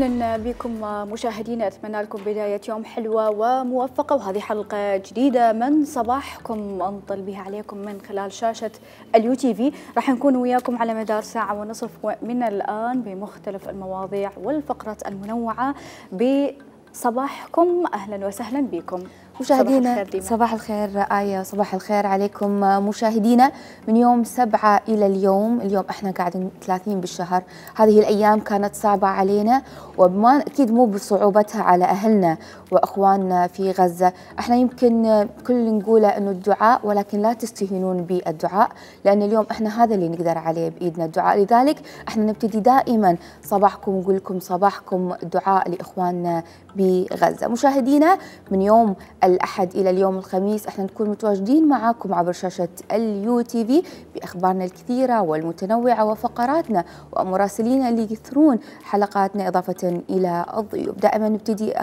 أهلا بكم مشاهدينا، أتمنى لكم بداية يوم حلوة وموفقة، وهذه حلقة جديدة من صباحكم أنطل بها عليكم من خلال شاشة الUTV. راح نكون وياكم على مدار ساعة ونصف من الآن بمختلف المواضيع والفقرات المنوعة بصباحكم. أهلا وسهلا بكم مشاهدينا. صباح الخير آية، صباح الخير عليكم مشاهدينا. من يوم 7 إلى اليوم احنا قاعدين 30 بالشهر. هذه الأيام كانت صعبة علينا، وبما أكيد مو بصعوبتها على أهلنا وأخواننا في غزة. احنا يمكن كل اللي نقوله أنه الدعاء، ولكن لا تستهينون بالدعاء، لأن اليوم احنا هذا اللي نقدر عليه بإيدنا، الدعاء. لذلك احنا نبتدي دائما صباحكم ونقول لكم صباحكم دعاء لإخواننا بغزة. مشاهدينا، من يوم الأحد إلى اليوم الخميس احنا نكون متواجدين معاكم عبر شاشة الUTV بأخبارنا الكثيرة والمتنوعة وفقراتنا ومراسلينا اللي يثرون حلقاتنا، إضافة إلى الضيوف. دائما نبتدي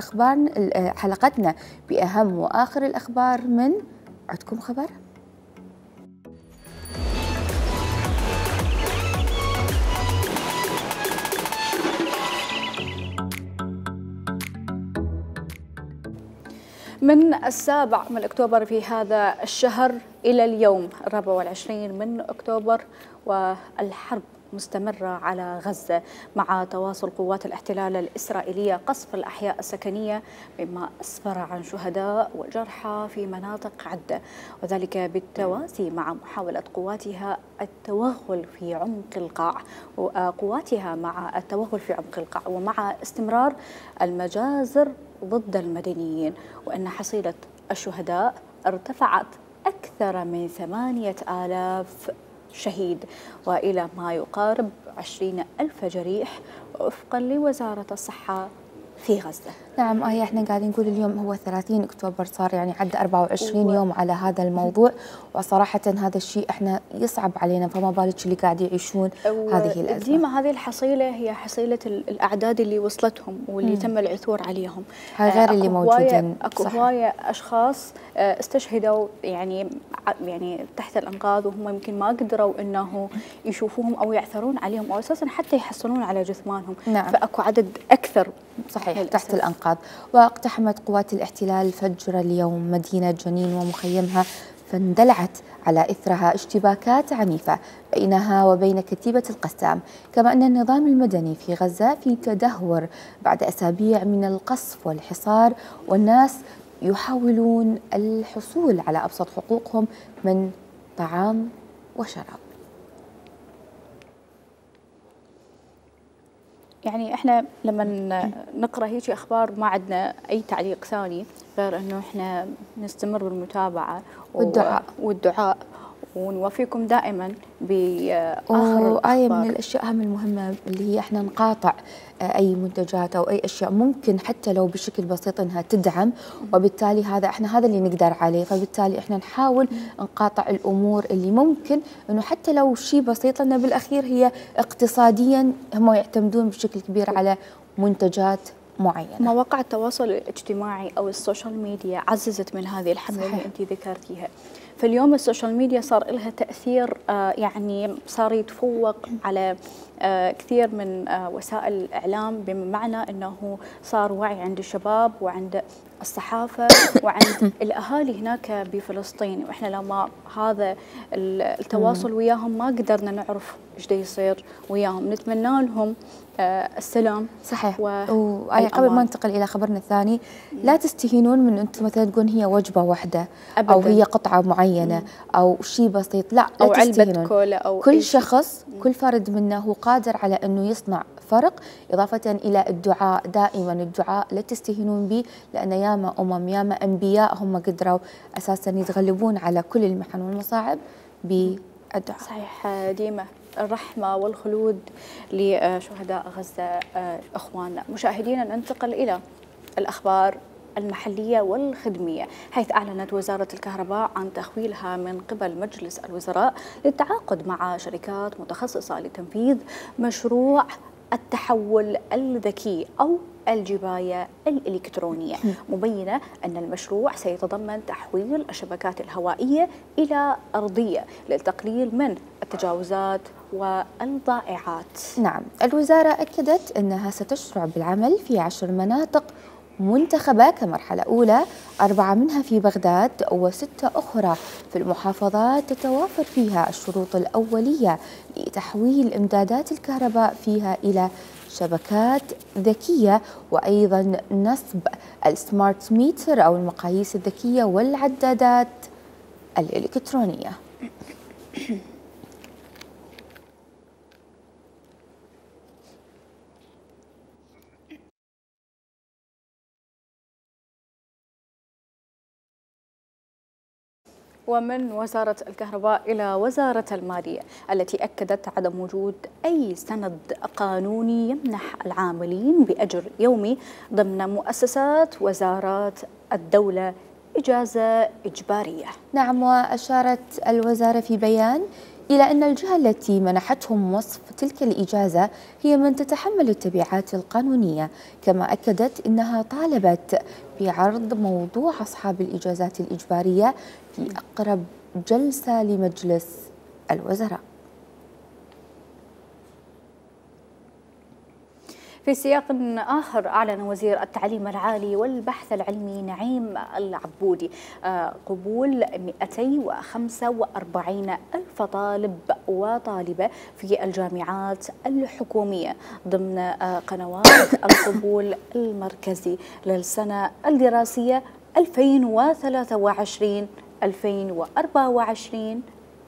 حلقتنا بأهم وآخر الأخبار من عندكم خبر؟ من 7 أكتوبر في هذا الشهر إلى اليوم 24 من أكتوبر، والحرب مستمرة على غزة مع تواصل قوات الاحتلال الإسرائيلية قصف الأحياء السكنية، مما أسفر عن شهداء وجرحى في مناطق عدة، وذلك بالتوازي مع محاولة قواتها في عمق القاع ومع استمرار المجازر ضد المدنيين، وأن حصيلة الشهداء ارتفعت أكثر من 8000 شهيد وإلى ما يقارب 20,000 جريح وفقا لوزارة الصحة في غزة. نعم آية، احنا قاعدين نقول اليوم هو 30 أكتوبر، صار يعني عدى 24 يوم على هذا الموضوع، وصراحة هذا الشيء احنا يصعب علينا، فما بالك اللي قاعد يعيشون هذه الأزمة. ديما هذه الحصيلة هي حصيلة الأعداد اللي وصلتهم واللي تم العثور عليهم، هاي غير اللي موجودين. اكو هواية أشخاص استشهدوا يعني تحت الأنقاض، وهم يمكن ما قدروا انه يشوفوهم او يعثرون عليهم او اساسا حتى يحصلون على جثمانهم. نعم. فاكو عدد اكثر صحيح تحت الأنقاض. واقتحمت قوات الاحتلال فجر اليوم مدينة جنين ومخيمها، فاندلعت على إثرها اشتباكات عنيفة بينها وبين كتيبة القسام. كما أن النظام المدني في غزة في تدهور بعد أسابيع من القصف والحصار، والناس يحاولون الحصول على أبسط حقوقهم من طعام وشراب. يعني احنا لما نقرا هيك اخبار ما عندنا اي تعليق ثاني غير انه احنا نستمر بالمتابعه والدعاء ونوفيكم دائما باخر آية من الاشياء هم المهمه اللي هي احنا نقاطع اي منتجات او اي اشياء ممكن حتى لو بشكل بسيط انها تدعم، وبالتالي هذا اللي نقدر عليه، فبالتالي احنا نحاول نقاطع الامور اللي ممكن انه حتى لو شيء بسيط، لان بالاخير هي اقتصاديا هم يعتمدون بشكل كبير على منتجات معينة. مواقع التواصل الاجتماعي أو السوشيال ميديا عززت من هذه الحملة اللي أنت ذكرتيها. فاليوم السوشيال ميديا صار لها تأثير، يعني صار يتفوق على كثير من وسائل الإعلام، بمعنى أنه صار وعي عند الشباب وعند الصحافة وعند الأهالي هناك بفلسطين، وإحنا لما هذا التواصل وياهم ما قدرنا نعرف إيش دا يصير وياهم. نتمنى لهم السلام. صحيح. قبل ما ننتقل إلى خبرنا الثاني، لا تستهينون من أنتم مثلا تقولون هي وجبة واحدة أبداً، أو هي قطعة معينة أو شيء بسيط، لا أو علبة كولا أو كل شخص كل فرد منا هو قادر على أنه يصنع فرق، إضافة إلى الدعاء. دائما الدعاء لا تستهينون به، لأن ياما ياما أنبياء هم قدروا أساسا يتغلبون على كل المحن والمصاعب بالدعاء. صحيح. ديما الرحمة والخلود لشهداء غزة أخواننا. مشاهدينا، ننتقل إلى الأخبار المحلية والخدمية، حيث أعلنت وزارة الكهرباء عن تخويلها من قبل مجلس الوزراء للتعاقد مع شركات متخصصة لتنفيذ مشروع التحول الذكي أو الجباية الإلكترونية، مبينة أن المشروع سيتضمن تحويل الشبكات الهوائية إلى أرضية للتقليل من التجاوزات والضائعات. نعم، الوزارة أكدت أنها ستشرع بالعمل في 10 مناطق منتخبة كمرحلة أولى، 4 منها في بغداد و6 أخرى في المحافظات تتوافر فيها الشروط الأولية لتحويل إمدادات الكهرباء فيها إلى شبكات ذكية، وأيضا نصب السمارت ميتر أو المقاييس الذكية والعدادات الإلكترونية. ومن وزارة الكهرباء إلى وزارة المالية التي أكدت عدم وجود أي سند قانوني يمنح العاملين بأجر يومي ضمن مؤسسات وزارات الدولة إجازة إجبارية. نعم، وأشارت الوزارة في بيان إلى أن الجهة التي منحتهم وصف تلك الإجازة هي من تتحمل التبعات القانونية، كما أكدت أنها طالبت بعرض موضوع أصحاب الإجازات الإجبارية في أقرب جلسة لمجلس الوزراء. في سياق آخر، أعلن وزير التعليم العالي والبحث العلمي نعيم العبودي قبول 245 ألف طالب وطالبة في الجامعات الحكومية ضمن قنوات القبول المركزي للسنة الدراسية 2023-2024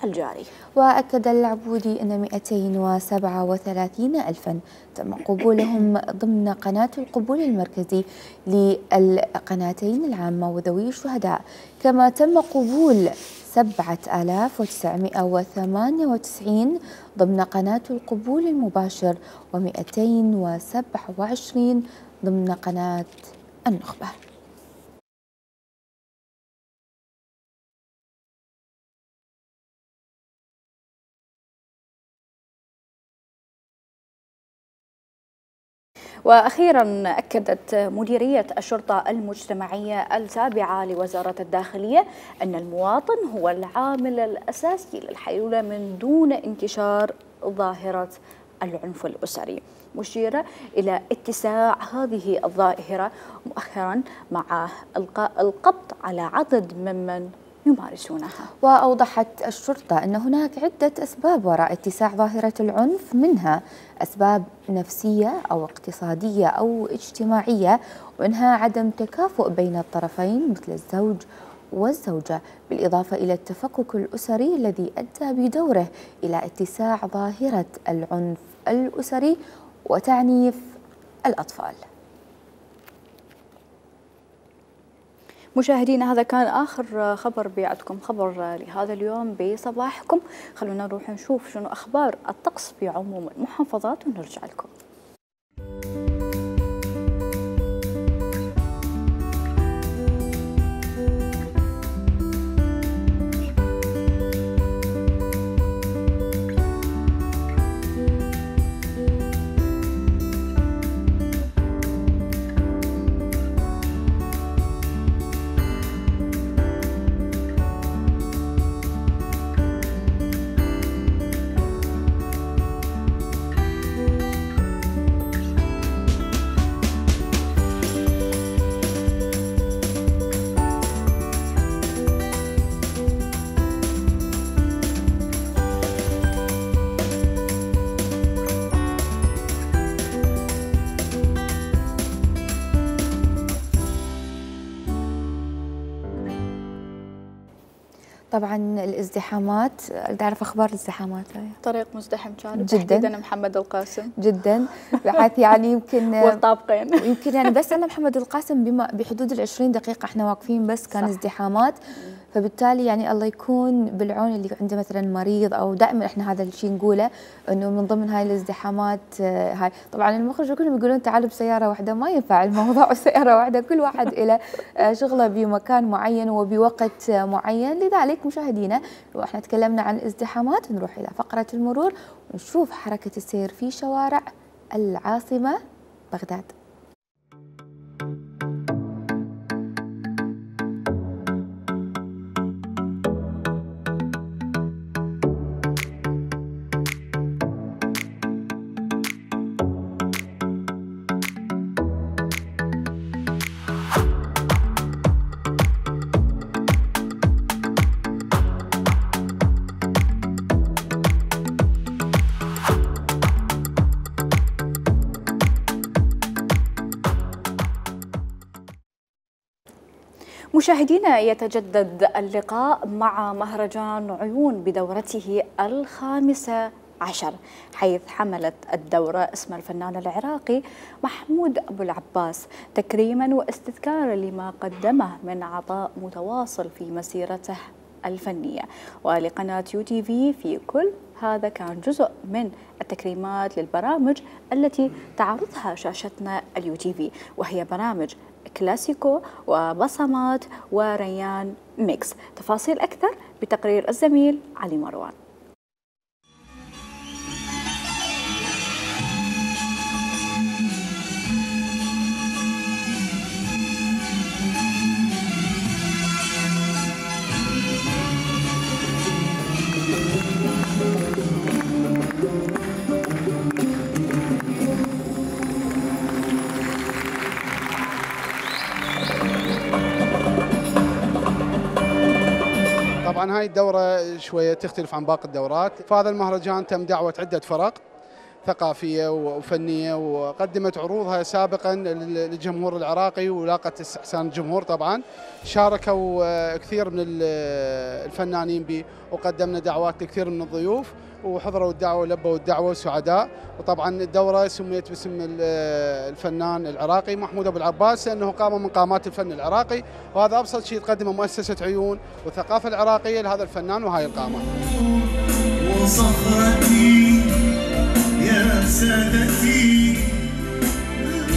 الجاري. وأكد العبودي أن 237 ألفا تم قبولهم ضمن قناة القبول المركزي للقناتين العامة وذوي الشهداء، كما تم قبول 7998 ضمن قناة القبول المباشر و227 ضمن قناة النخبة. وأخيرا أكدت مديرية الشرطة المجتمعية التابعة لوزارة الداخلية أن المواطن هو العامل الأساسي للحيلولة من دون انتشار ظاهرة العنف الأسري، مشيرة إلى اتساع هذه الظاهرة مؤخرا مع إلقاء القبض على عدد ممن يمارسونها. وأوضحت الشرطة أن هناك عدة أسباب وراء اتساع ظاهرة العنف، منها أسباب نفسية أو اقتصادية أو اجتماعية، ومنها عدم تكافؤ بين الطرفين مثل الزوج والزوجة، بالإضافة إلى التفكك الأسري الذي أدى بدوره إلى اتساع ظاهرة العنف الأسري وتعنيف الأطفال. مشاهدينا، هذا كان آخر خبر بيعدكم خبر لهذا اليوم بصباحكم. خلونا نروح نشوف شنو أخبار الطقس في عموم المحافظات ونرجع لكم. طبعا الازدحامات، بدي اعرف اخبار الازدحامات. طريق مزدحم كان جدا، تحديدا محمد القاسم جدا، بحيث يعني يمكن والطابقين يمكن يعني بس انا محمد القاسم بما بحدود ال20 دقيقه احنا واقفين، بس كان ازدحامات. فبالتالي يعني الله يكون بالعون اللي عنده مثلا مريض، او دائما احنا هذا الشيء نقوله انه من ضمن هاي الازدحامات هاي طبعا المخرج كلهم يقولون تعالوا بسياره واحده، ما ينفع الموضوع سياره واحده، كل واحد له شغله بمكان معين وبوقت معين. لذلك مشاهدينا، واحنا تكلمنا عن الازدحامات، نروح الى فقره المرور ونشوف حركه السير في شوارع العاصمه بغداد. مشاهدينا، يتجدد اللقاء مع مهرجان عيون بدورته الخامسة عشر، حيث حملت الدورة اسم الفنان العراقي محمود أبو العباس تكريما واستذكارا لما قدمه من عطاء متواصل في مسيرته الفنية. ولقناة UTV في كل هذا كان جزء من التكريمات للبرامج التي تعرضها شاشتنا UTV، وهي برامج كلاسيكو وبصمات وريان ميكس. تفاصيل أكثر بتقرير الزميل علي مروان. طبعا هاي الدورة شوية تختلف عن باقي الدورات. فهذا المهرجان تم دعوة عدة فرق ثقافية وفنية وقدمت عروضها سابقا للجمهور العراقي ولاقت استحسان الجمهور. طبعا شاركوا كثير من الفنانين به، وقدمنا دعوات لكثير من الضيوف وحضروا الدعوة ولبوا الدعوة سعداء. وطبعا الدورة سميت باسم الفنان العراقي محمود أبو العباس لأنه قامة من قامات الفن العراقي، وهذا أبسط شيء تقدمه مؤسسة عيون والثقافة العراقية لهذا الفنان وهاي القامة. وصخرتي يا سادتي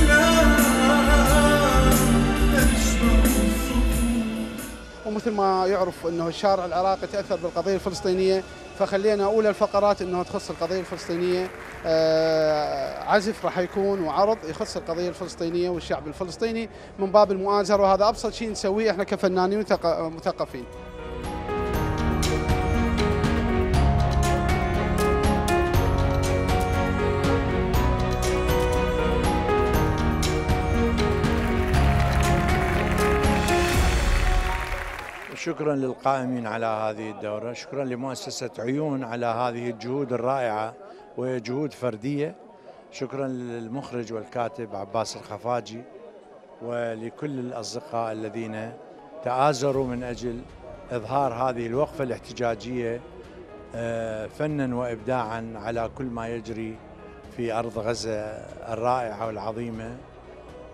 لا تشبه الصخور. ومثل ما يعرف أنه الشارع العراقي تأثر بالقضية الفلسطينية، فخلينا أولى الفقرات أنه تخص القضية الفلسطينية. عزف راح يكون وعرض يخص القضية الفلسطينية والشعب الفلسطيني من باب المؤازرة، وهذا أبسط شيء نسويه احنا كفنانين مثقفين. شكرا للقائمين على هذه الدورة، شكرا لمؤسسة عيون على هذه الجهود الرائعة وهي جهود فردية، شكرا للمخرج والكاتب عباس الخفاجي ولكل الأصدقاء الذين تآزروا من أجل إظهار هذه الوقفة الاحتجاجية فنا وإبداعا على كل ما يجري في أرض غزة الرائعة والعظيمة.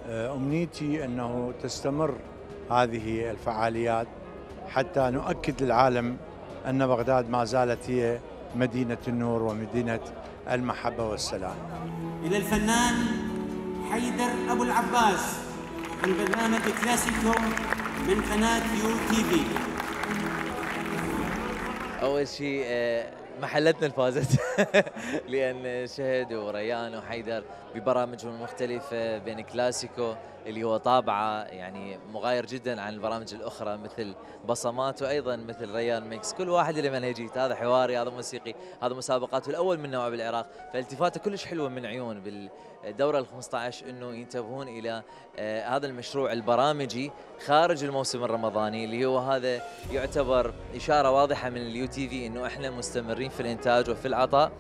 أمنيتي أنه تستمر هذه الفعاليات حتى نؤكد للعالم أن بغداد ما زالت هي مدينة النور ومدينة المحبة والسلام. إلى الفنان حيدر أبو العباس من برنامج كلاسيكو من قناة UTV. أول شيء محلتنا فازت لأن شهد وريان وحيدر ببرامجهم المختلفة بين كلاسيكو اللي هو طابعه يعني مغاير جدا عن البرامج الأخرى مثل بصمات، وأيضا مثل ريان ميكس. كل واحد له منهجيته، هذا حواري، هذا موسيقي، هذا مسابقات والأول من نوعه بالعراق. فالتفاته كلش حلوة من عيون بالدورة ال15 أنه ينتبهون إلى هذا المشروع البرامجي خارج الموسم الرمضاني، اللي هو هذا يعتبر إشارة واضحة من UTV أنه إحنا مستمرين في الإنتاج وفي العطاء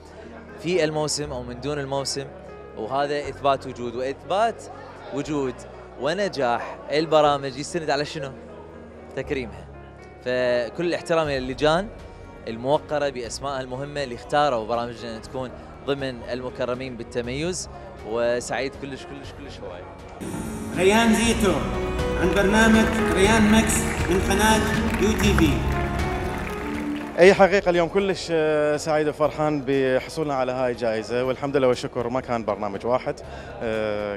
في الموسم أو من دون الموسم، وهذا إثبات وجود وإثبات وجود ونجاح البرامج يستند على شنو؟ تكريمها. فكل الاحترام للجان الموقرة بأسمائها المهمة اللي اختاروا برامجنا أن تكون ضمن المكرمين بالتميز، وسعيد كلش كلش كلش هواي. ريان زيتو عن برنامج ريان ميكس من قناة UTV. اي حقيقه اليوم كلش سعيد وفرحان بحصولنا على هاي الجائزه، والحمد لله والشكر ما كان برنامج واحد،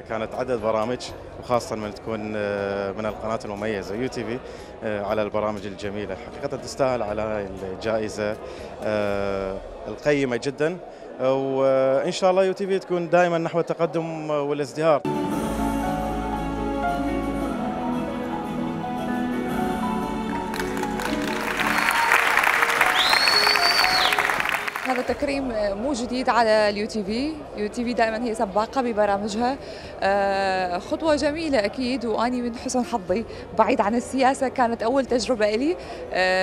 كانت عدد برامج، وخاصه من تكون من القناه المميزه UTV على البرامج الجميله. حقيقه تستاهل على هاي الجائزه القيمه جدا، وان شاء الله UTV تكون دائما نحو التقدم والازدهار. هذا تكريم مو جديد على UTV دائما هي سباقة ببرامجها، خطوة جميلة أكيد، وأني من حسن حظي بعيد عن السياسة كانت أول تجربة لي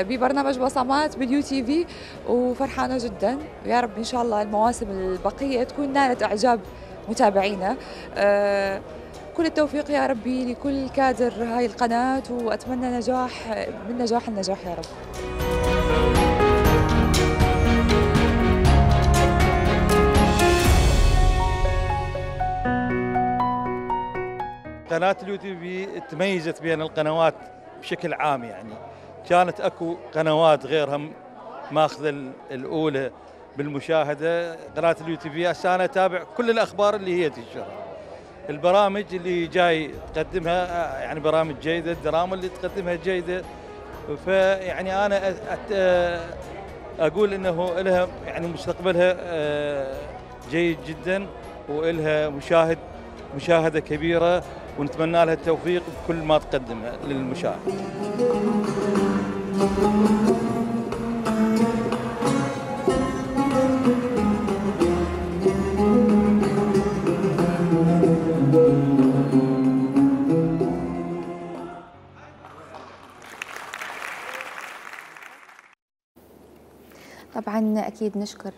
ببرنامج بصمات بالUTV، وفرحانة جدا، ويا رب إن شاء الله المواسم البقية تكون نالت إعجاب متابعينا. كل التوفيق يا ربي لكل كادر هاي القناة، وأتمنى نجاح من نجاح النجاح يا رب. قناة اليوتيوب تميزت بين القنوات بشكل عام، يعني كانت اكو قنوات غيرها ماخذة الأولى بالمشاهدة. قناة اليوتيوب هسه أنا أتابع كل الأخبار اللي هي تنشرها، البرامج اللي جاي تقدمها يعني برامج جيدة، الدراما اللي تقدمها جيدة. فيعني أنا أقول إنه لها يعني مستقبلها جيد جدا، وإلها مشاهدة كبيرة، ونتمنى لها التوفيق بكل ما تقدمه للمشاهد. طبعا أكيد نشكر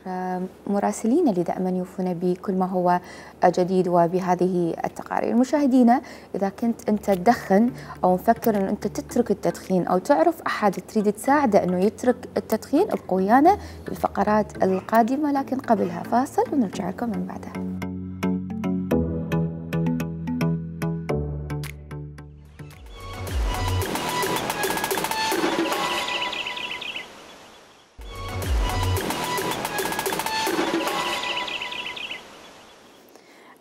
مراسلين اللي دائما يوفونا بكل ما هو جديد وبهذه التقارير. مشاهدينا، إذا كنت أنت تدخن أو مفكر أن أنت تترك التدخين أو تعرف أحد تريد تساعده أنه يترك التدخين، ابقوا ويانا بالفقرات القادمة، لكن قبلها فاصل ونرجع لكم من بعدها.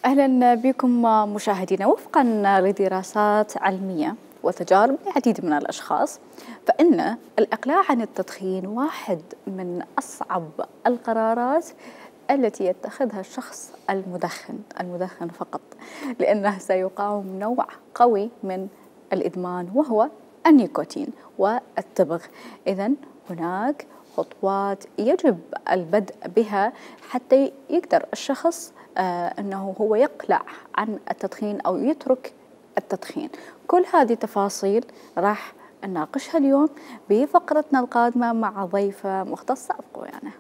أهلا بكم مشاهدينا. وفقا لدراسات علمية وتجارب العديد من الأشخاص، فإن الإقلاع عن التدخين واحد من أصعب القرارات التي يتخذها الشخص المدخن فقط، لأنه سيقاوم نوع قوي من الإدمان وهو النيكوتين والتبغ. إذن هناك خطوات يجب البدء بها حتى يقدر الشخص أنه هو يقلع عن التدخين أو يترك التدخين. كل هذه التفاصيل راح نناقشها اليوم بفقرتنا القادمة مع ضيفة مختصة. أبقوا يعني.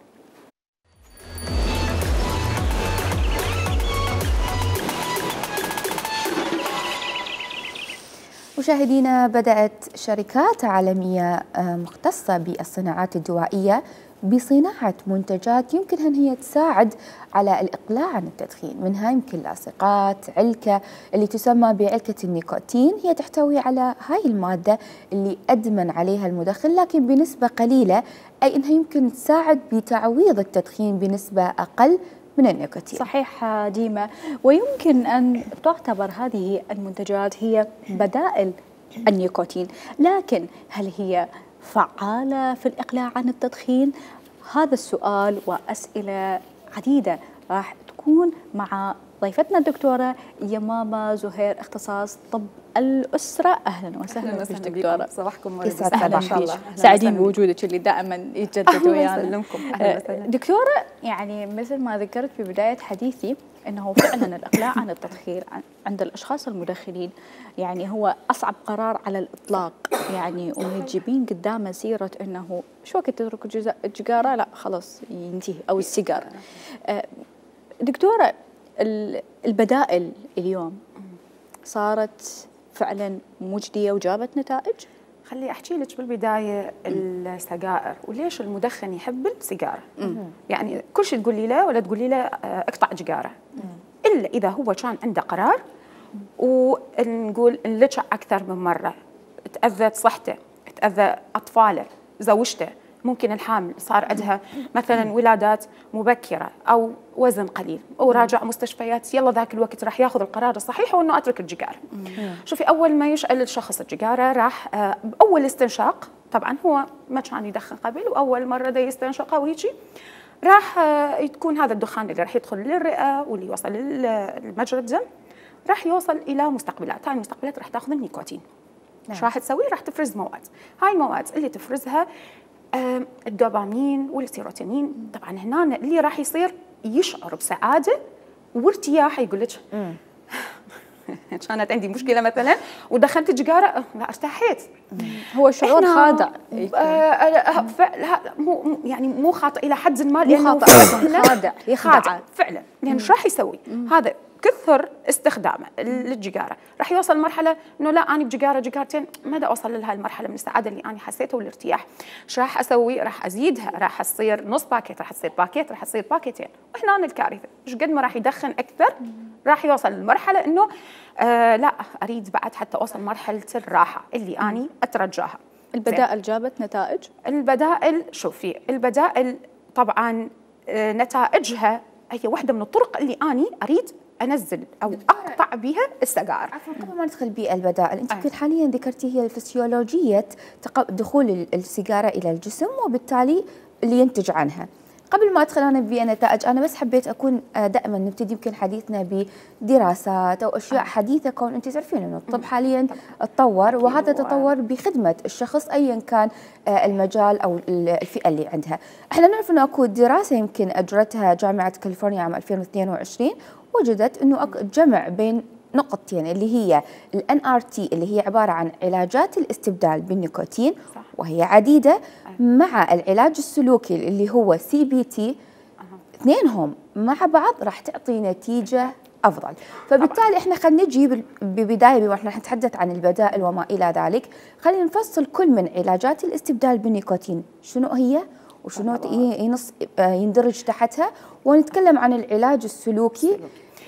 مشاهدينا، بدأت شركات عالمية مختصة بالصناعات الدوائية بصناعة منتجات يمكن أن هي تساعد على الإقلاع عن التدخين، منها يمكن لاصقات، علكة اللي تسمى بعلكة النيكوتين. هي تحتوي على هاي المادة اللي أدمن عليها المدخن لكن بنسبة قليلة، أي أنها يمكن تساعد بتعويض التدخين بنسبة أقل من النيكوتين. صحيح ديما، ويمكن أن تعتبر هذه المنتجات هي بدائل النيكوتين، لكن هل هي فعالة في الإقلاع عن التدخين؟ هذا السؤال وأسئلة عديدة راح تكون مع ضيفتنا الدكتورة يمامة زهير، اختصاص طب الأسرة. أهلا وسهلا بك دكتورة. صباحكم إن شاء الله. سعيدين بوجودك اللي دائما يتجدد ويانا. دكتورة، يعني مثل ما ذكرت في بداية حديثي أنه فعلا الإقلاع عن التدخين عند الأشخاص المدخنين يعني هو أصعب قرار على الإطلاق، يعني وتجيبين قدامه سيرة أنه شو وقت تترك السيجارة، لا خلاص ينتهي، أو السيجارة. دكتورة، البدائل اليوم صارت فعلا مجدية وجابت نتائج؟ خلي أحكي لك بالبداية السجائر وليش المدخن يحب السيجارة. يعني كل شيء تقولي له ولا تقولي له اقطع سيجارة، إلا إذا هو كان عنده قرار ونقول انلجأ أكثر من مرة، تأذت صحته، تأذى أطفاله، زوجته، ممكن الحامل صار عندها مثلا ولادات مبكرة أو وزن قليل وراجع مستشفيات، يلا ذاك الوقت راح ياخذ القرار الصحيح وإنه أترك السيجارة. شوفي، أول ما يشعل الشخص السيجارة راح بأول استنشاق، طبعا هو ما كان يدخن قبل وأول مرة دا يستنشقه ويجي، راح تكون هذا الدخان اللي راح يدخل للرئة واللي يوصل لمجرى الدم راح يوصل إلى مستقبلات. هاي المستقبلات راح تاخذ النيكوتين. ايش راح تسوي؟ راح تفرز مواد. هاي المواد اللي تفرزها الدوبامين والسيروتونين. طبعا هنا اللي راح يصير يشعر بسعاده وارتياح، يقول لك كانت عندي مشكله مثلا ودخلت سيجاره لا ارتاحيت. هو شعور خادع. يعني مو خاطئ الى حد ما، لانه خادع فعلا. لان ايش راح يسوي؟ هذا كثر استخدامه للجيجاره راح يوصل مرحله انه لا انا بجيجاره جيجارتين ما دا اوصل لهي المرحله من السعاده اللي انا حسيتها والارتياح. ايش راح اسوي؟ راح ازيدها، راح تصير نص باكيت، راح تصير باكيت، راح تصير باكيتين. وهنا الكارثه، ايش قد ما راح يدخن اكثر راح يوصل للمرحله انه لا اريد بعد حتى اوصل مرحله الراحه اللي اني اترجاها. البدائل جابت نتائج؟ البدائل شوفي، البدائل طبعا نتائجها هي واحده من الطرق اللي اني اريد انزل او اقطع بها السجائر. عفوا قبل ما ندخل بالبدائل، انت كنت حاليا ذكرتي هي الفسيولوجيه دخول السيجاره الى الجسم وبالتالي اللي ينتج عنها. قبل ما ادخل انا بنتائج، انا بس حبيت اكون دائما نبتدي يمكن حديثنا بدراسات او اشياء حديثه، كون انت تعرفين انه الطب حاليا تطور، وهذا تطور بخدمه الشخص ايا كان المجال او الفئه اللي عندها. احنا نعرف انه اكو دراسه يمكن اجرتها جامعه كاليفورنيا عام 2022 وجدت انه جمع بين نقطتين اللي هي NRT اللي هي عباره عن علاجات الاستبدال بالنيكوتين، وهي عديده، مع العلاج السلوكي اللي هو CBT، اثنينهم مع بعض راح تعطي نتيجه افضل. فبالتالي احنا خلينا نجي ببدايه واحنا نتحدث عن البدائل وما الى ذلك، خلينا نفصل كل من علاجات الاستبدال بالنيكوتين شنو هي وشنو يندرج تحتها، ونتكلم عن العلاج السلوكي،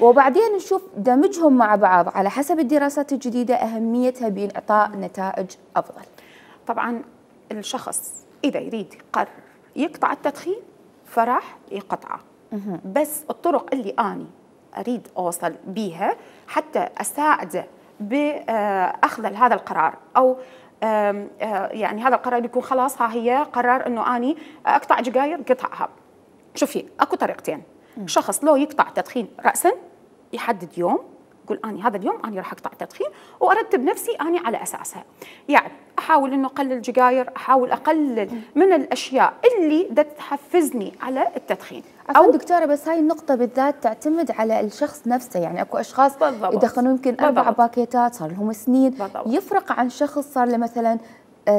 وبعدين نشوف دمجهم مع بعض على حسب الدراسات الجديدة أهميتها بإعطاء نتائج أفضل. طبعا الشخص إذا يريد يقرر يقطع التدخين فراح يقطعه، بس الطرق اللي أنا أريد أوصل بيها حتى أساعده بأخذ هذا القرار، أو يعني هذا القرار يكون خلاص ها هي قرار أنه أني أقطع جيجاير قطعها. شوفي أكو طريقتين. شخص لو يقطع تدخين رأسا يحدد يوم، يقول أني هذا اليوم أنا راح أقطع تدخين وأرتب نفسي أنا على أساسها. يعني أحاول إنه أقلل جيجاير، أحاول أقلل من الأشياء اللي تحفزني على التدخين. أو دكتورة بس هاي النقطة بالذات تعتمد على الشخص نفسه، يعني أكو أشخاص يدخنون يمكن 4 باكيتات صار لهم سنين، يفرق عن شخص صار له مثلا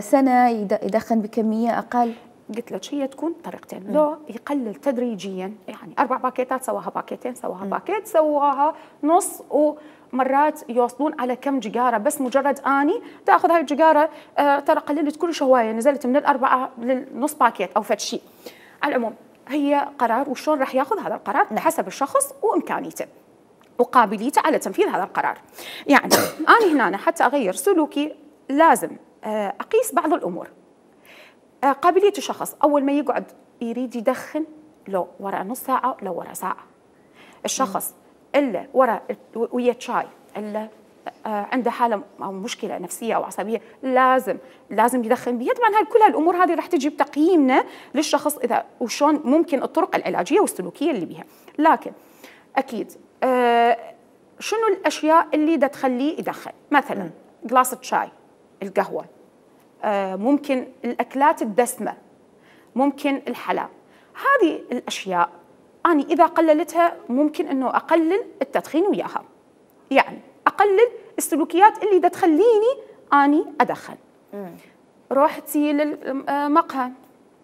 سنة يدخن بكمية أقل. قلت لك هي تكون طريقتين، لو يقلل تدريجيا، يعني 4 باكيتات سواها باكيتين، سواها باكيت، سواها نص، ومرات يوصلون على كم جيجاره، بس مجرد اني تاخذ هاي الجيجاره ترى قللت كل هوايه، نزلت من ال4 للنص باكيت او فد شيء. على العموم هي قرار، وشلون راح ياخذ هذا القرار حسب الشخص وامكانيته وقابليته على تنفيذ هذا القرار. يعني انا هنا حتى اغير سلوكي لازم اقيس بعض الامور. قابلية الشخص أول ما يقعد يريد يدخن، لو ورا نص ساعة لو ورا ساعة. الشخص إلا ورا ويا شاي، إلا عنده حالة أو مشكلة نفسية أو عصبية لازم يدخن بيها. طبعا كل هالأمور هذه راح تجي بتقييمنا للشخص إذا وشون ممكن الطرق العلاجية والسلوكية اللي بيها. لكن أكيد شنو الأشياء اللي دا تخليه يدخن؟ مثلا قلاصة شاي، القهوة، ممكن الأكلات الدسمة، ممكن الحلال. هذه الأشياء أنا إذا قللتها ممكن أنه أقلل التدخين وياها، يعني أقلل السلوكيات اللي دا تخليني أني أدخن. روحتي للمقهى،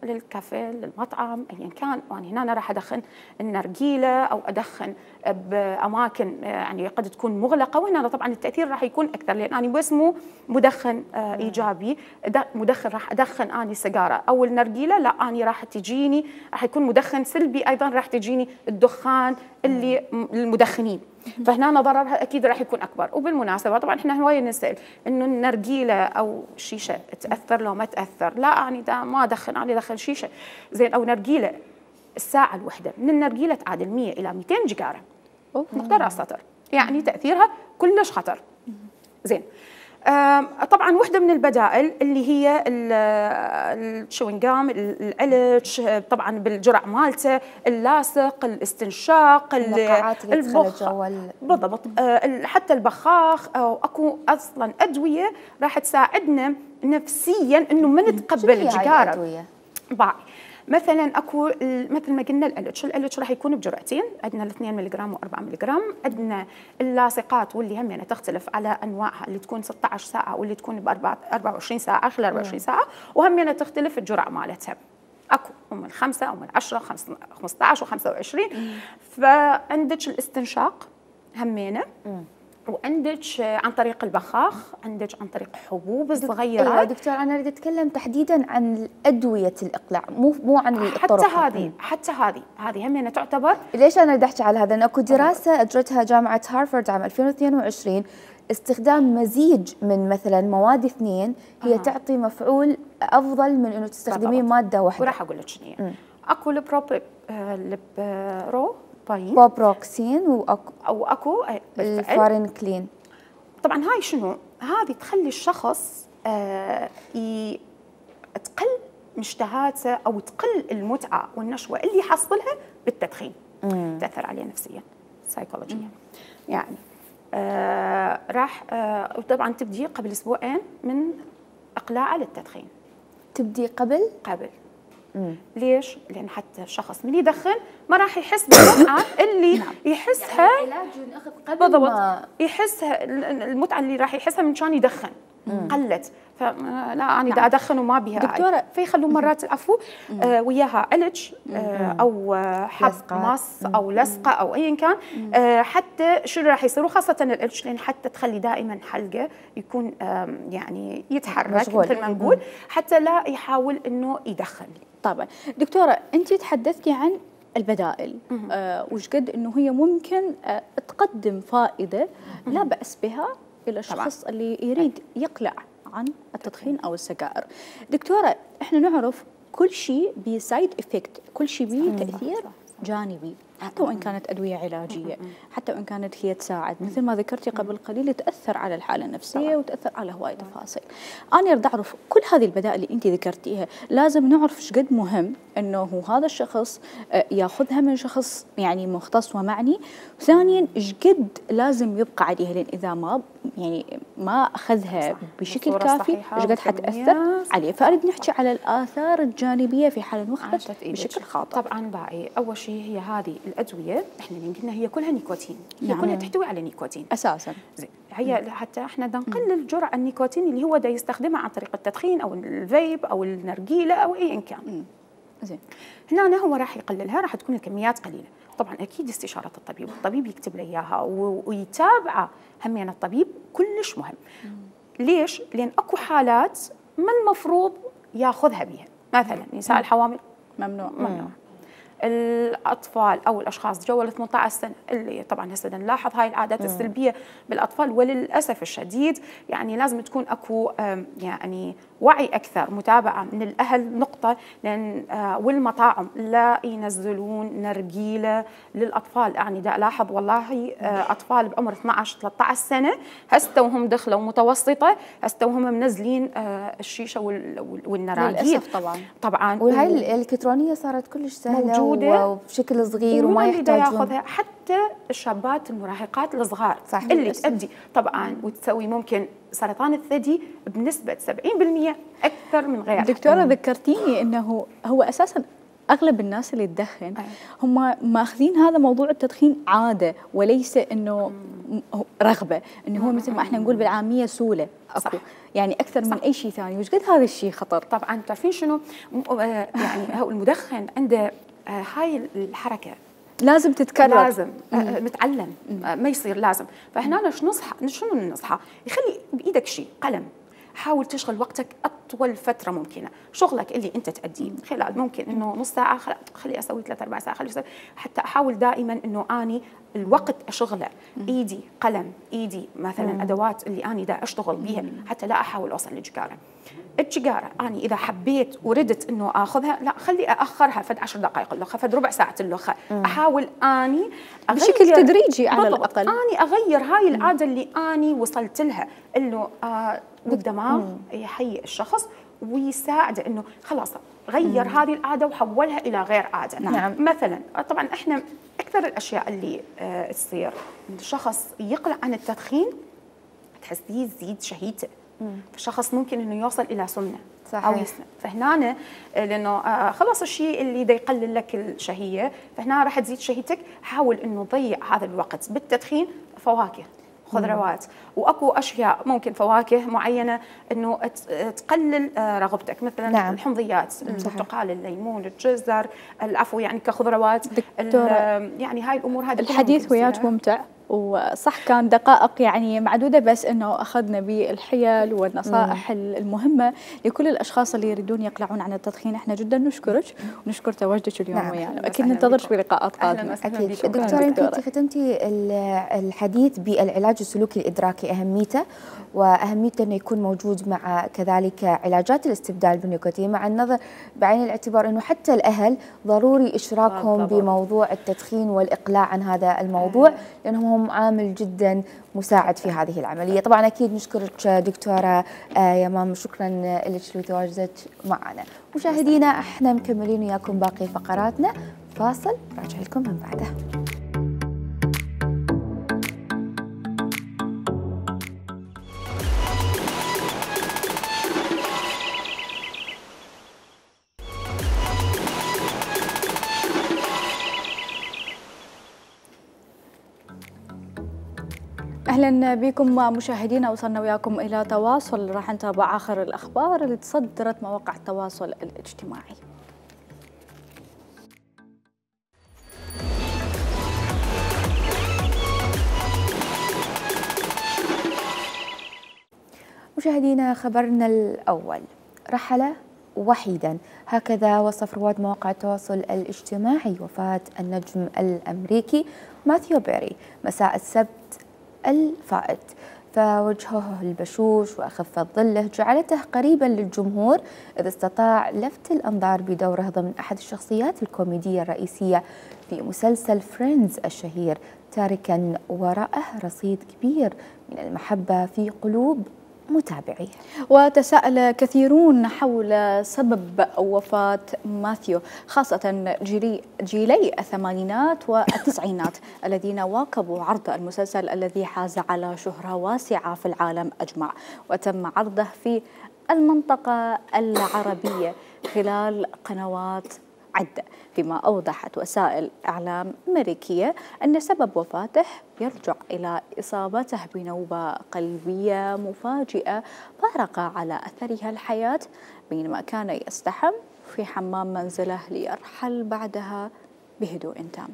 للكافيه، للمطعم، ايا كان، وانا هنا راح ادخن النرجيله او ادخن باماكن يعني قد تكون مغلقه، وهنا طبعا التاثير راح يكون اكثر، لان انا بس مو مدخن ايجابي، مدخن راح ادخن اني سيجاره او النرجيله، لا اني راح تجيني راح يكون مدخن سلبي ايضا، راح تجيني الدخان اللي للمدخنين، فهنا ضررها اكيد راح يكون اكبر. وبالمناسبه طبعا احنا هوايه نسال انه النرجيله او الشيشه تاثر لو ما تاثر، لا اني دا ما ادخن، اني ادخن شيشه زين او نرجيله. الساعه الوحده من النرجيله تعادل 100 الى 200 جيجاره نقطه راس سطر، يعني تاثيرها كلش خطر. زين طبعا وحده من البدائل اللي هي الشوينغام، العلج، طبعا بالجرع مالته، اللاصق، الاستنشاق، النقاعات اللي تدخل الجو، بالضبط، حتى البخاخ، او اكو اصلا ادويه راح تساعدنا نفسيا انه ما نتقبل الجيجاره. مثلا اكو مثل ما قلنا الالتش راح يكون بجرعتين، عندنا 2 ملغ و4 ملغ، عندنا اللاصقات واللي هم تختلف على انواعها، اللي تكون 16 ساعه واللي تكون ب 24 ساعه خلال 24 ساعه، وهم تختلف الجرعه مالتها، اكو من 5 او من 10 15 و25. فعندك الاستنشاق همينه. وعندك عن طريق البخاخ، عندك عن طريق حبوب صغيره. ايوه دكتور، انا اريد اتكلم تحديدا عن ادويه الاقلاع، مو عن الطرق. حتى هذه همينه تعتبر. ليش انا بدي احكي على هذا؟ انه اكو دراسه اجرتها جامعه هارفارد عام 2022، استخدام مزيج من مثلا مواد اثنين هي تعطي مفعول افضل من انه تستخدمين ماده واحده. وراح اقول لك شنو هي. اكو بوبروكسين واكو الفارنكلين. طبعا هاي شنو؟ هذه تخلي الشخص تقل مشتهاته او تقل المتعه والنشوه اللي يحصلها بالتدخين. تاثر عليه نفسيا سايكولوجيا. يعني راح وطبعا تبدي قبل اسبوعين من اقلاعه للتدخين. تبدي قبل ليش؟ لان حتى الشخص من يدخن ما راح يحس بالمتعه اللي يحسها. يعني العلاج ينأخذ قبل بالضبط، يحسها المتعه اللي راح يحسها من كان يدخن قلت. فلا انا دا ادخن وما بها دكتوره، فيخلون مرات العفو وياها علج او حب مص او لصقه او ايا كان. حتى شنو راح يصير، وخاصه العلج، لان حتى تخلي دائما حلقه يكون يعني يتحرك مثل ما نقول، حتى لا يحاول انه يدخن. طبعا دكتوره، انت تحدثتي عن البدائل وش قد انه هي ممكن تقدم فائده لا باس بها الى الشخص اللي يريد يقلع عن التدخين او السجائر. دكتوره، احنا نعرف كل شيء بسايد افكت، كل شيء به تاثير جانبي، حتى وان كانت ادويه علاجيه، حتى وان كانت هي تساعد، مثل ما ذكرتي قبل قليل تاثر على الحاله النفسيه وتاثر على هواي تفاصيل. انا اريد اعرف كل هذه البدائل اللي انت ذكرتيها، لازم نعرف ايش قد مهم انه هذا الشخص ياخذها من شخص يعني مختص ومعني، ثانيا ايش قد لازم يبقى عليها، لان اذا ما اخذها بشكل كافي ايش قد حتاثر عليه. فاريد نحكي على الاثار الجانبيه في حال المخ بشكل خاطئ. طبعا باعي اول شيء هي هذه الادويه احنا قلنا هي كلها نيكوتين، هي كلها تحتوي على نيكوتين اساسا. زين، هي حتى احنا بدنا نقلل جرعه النيكوتين اللي هو دا يستخدمها عن طريق التدخين او الفيب او النرجيله او ايا كان. زين، هنا هو راح يقللها، راح تكون الكميات قليله. طبعا اكيد استشاره الطبيب، الطبيب يكتب له اياها ويتابعه همين الطبيب كلش مهم. ليش؟ لان اكو حالات ما المفروض ياخذها بها، مثلا نساء الحوامل ممنوع. الاطفال او الاشخاص جو ال 18 سنه اللي طبعا هسه نلاحظ هاي العادات السلبيه بالاطفال، وللاسف الشديد يعني لازم تكون اكو يعني وعي اكثر، متابعه من الاهل نقطه، لان والمطاعم لا ينزلون نرجيله للاطفال. يعني دا الاحظ والله اطفال بعمر 12 13 سنه هسه وهم دخلوا متوسطه هسه وهم منزلين الشيشه والنراجيل. للاسف طبعا وهي الالكترونيه صارت كلش سهله وبشكل صغير وما يحتاجون. حتى الشابات المراهقات الصغار اللي تؤدي طبعا وتسوي ممكن سرطان الثدي بنسبه 70% اكثر من غيرها. دكتوره ذكرتيني انه هو اساسا اغلب الناس اللي تدخن هم ماخذين هذا موضوع التدخين عاده وليس انه رغبه، انه هو مثل ما احنا نقول بالعاميه سوله اكو يعني اكثر من اي شيء ثاني. وش قد هذا الشيء خطر؟ طبعا تعرفين شنو يعني هو المدخن عنده هاي الحركه لازم تتكرر، لازم متعلم ما يصير لازم. فهنا شنو النصحه؟ يخلي بايدك شيء قلم، حاول تشغل وقتك اطول فتره ممكنه، شغلك اللي انت تأديه خلال ممكن انه نص ساعه خلي اسوي 3-4 ساعات، حتى احاول دائما انه اني الوقت اشغله، ايدي قلم، ايدي مثلا ادوات اللي اني دا اشتغل بيها، حتى لا احاول اوصل للجقاره. الجقاره اني اذا حبيت وردت انه اخذها لا خلي اخرها فد 10 دقائق اللخه، فد ربع ساعه اللخه، احاول اني بشكل تدريجي على الاقل اني اغير هاي العاده اللي اني وصلت لها، انه والدماغ يهيئ الشخص ويساعده انه خلاص غير هذه العاده وحولها الى غير عاده. نعم. مثلا طبعا احنا اكثر الاشياء اللي تصير الشخص يقلع عن التدخين تحسيه يزيد شهيته، فالشخص ممكن انه يوصل الى سمنه صحيح. او يسمن. فهنا لانه خلاص الشيء اللي دا يقلل لك الشهيه، فهنا راح تزيد شهيتك. حاول انه تضيع هذا الوقت بالتدخين، فواكه، خضروات، واكو اشياء ممكن فواكه معينه انه تقلل رغبتك، مثلا نعم. الحمضيات، البرتقال، الليمون، الجزر، العفو يعني كخضروات. يعني هاي الامور هذه الحديث وياك ممتع وصح كان دقائق يعني معدودة، بس أنه أخذنا بالحيل والنصائح المهمة لكل الأشخاص اللي يريدون يقلعون عن التدخين. احنا جدا نشكرك ونشكر تواجدك اليوم ويانا، أكيد ننتظرك بلقاءات قادمة. أكيد. دكتورة أنت ختمتي الحديث بالعلاج السلوكي الإدراكي، أهميته وأهميته أنه يكون موجود مع كذلك علاجات الاستبدال بالنيكوتين، مع النظر بعين الاعتبار أنه حتى الأهل ضروري إشراكهم بموضوع التدخين والإقلاع عن هذا الموضوع، لأنهم هم عامل جدا مساعد في هذه العملية. طبعا أكيد نشكرك دكتورة يمام، شكرا لك لتواجدك معنا. مشاهدينا احنا مكملين وياكم باقي فقراتنا، فاصل راجع لكم من بعده. اهلا بكم مشاهدينا، وصلنا وياكم الى تواصل راح نتابع اخر الاخبار اللي تصدرت مواقع التواصل الاجتماعي. مشاهدينا خبرنا الاول، رحل وحيدا، هكذا وصف رواد مواقع التواصل الاجتماعي وفاة النجم الامريكي ماثيو بيري مساء السبت الفائت، فوجهه البشوش وخفة ظله جعلته قريبا للجمهور، إذ استطاع لفت الأنظار بدوره ضمن أحد الشخصيات الكوميدية الرئيسية في مسلسل فريندز الشهير، تاركا وراءه رصيد كبير من المحبة في قلوب متابعيه. وتساءل كثيرون حول سبب وفاة ماثيو، خاصة جيلي الثمانينات والتسعينات الذين واكبوا عرض المسلسل الذي حاز على شهرة واسعة في العالم أجمع، وتم عرضه في المنطقة العربية خلال قنوات عدة، فيما أوضحت وسائل إعلام أمريكية أن سبب وفاته يرجع إلى إصابته بنوبة قلبية مفاجئة فارق على أثرها الحياة بينما كان يستحم في حمام منزله، ليرحل بعدها بهدوء تام.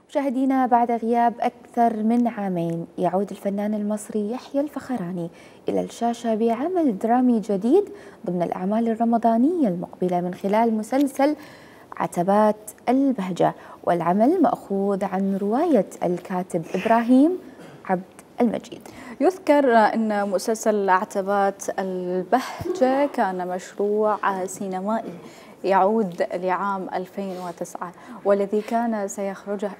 مشاهدينا، بعد غياب أكثر من عامين يعود الفنان المصري يحيى الفخراني إلى الشاشة بعمل درامي جديد ضمن الأعمال الرمضانية المقبلة من خلال مسلسل عتبات البهجة، والعمل مأخوذ عن رواية الكاتب إبراهيم عبد المجيد. يذكر أن مسلسل عتبات البهجة كان مشروع سينمائي يعود لعام 2009 والذي كان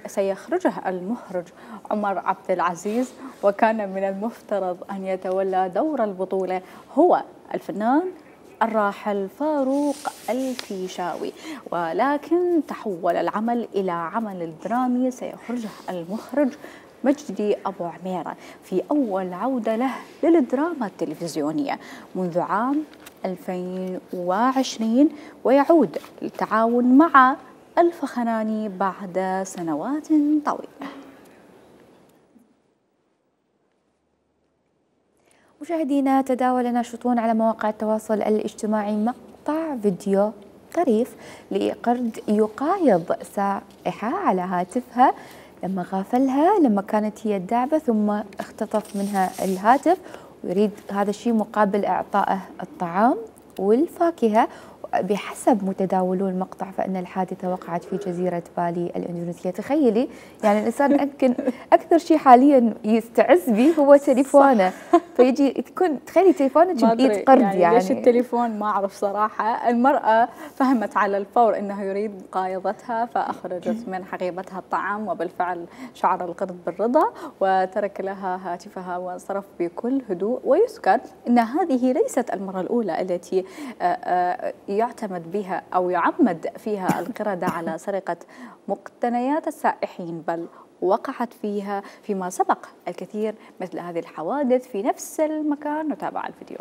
سيخرجه المخرج عمر عبد العزيز، وكان من المفترض أن يتولى دور البطولة هو الفنان الراحل فاروق الفيشاوي، ولكن تحول العمل إلى عمل درامي سيخرجه المخرج مجدي أبو عميرة في أول عودة له للدراما التلفزيونية منذ عام 2020، ويعود التعاون مع الفخراني بعد سنوات طويلة. مشاهدينا، تداول ناشطون على مواقع التواصل الاجتماعي مقطع فيديو طريف لقرد يقايض سائحة على هاتفها لما غافلها لما كانت هي الداعبة، ثم اختطف منها الهاتف ويريد هذا الشيء مقابل إعطائه الطعام والفاكهة. بحسب متداولو المقطع فإن الحادثة وقعت في جزيرة بالي الإندونيسية. تخيلي يعني الإنسان يمكن أكثر شيء حاليا يستعز به هو تليفونه، فيجي تكون تخيلي تليفونك بإيد قرد يعني ليش التليفون ما أعرف صراحة. المرأة فهمت على الفور أنه يريد مقايضتها فأخرجت من حقيبتها الطعام، وبالفعل شعر القرد بالرضا وترك لها هاتفها وانصرف بكل هدوء. ويذكر أن هذه ليست المرة الأولى التي يعتمد بها أو يعمد فيها القردة على سرقة مقتنيات السائحين، بل وقعت فيها فيما سبق الكثير مثل هذه الحوادث في نفس المكان. نتابع الفيديو.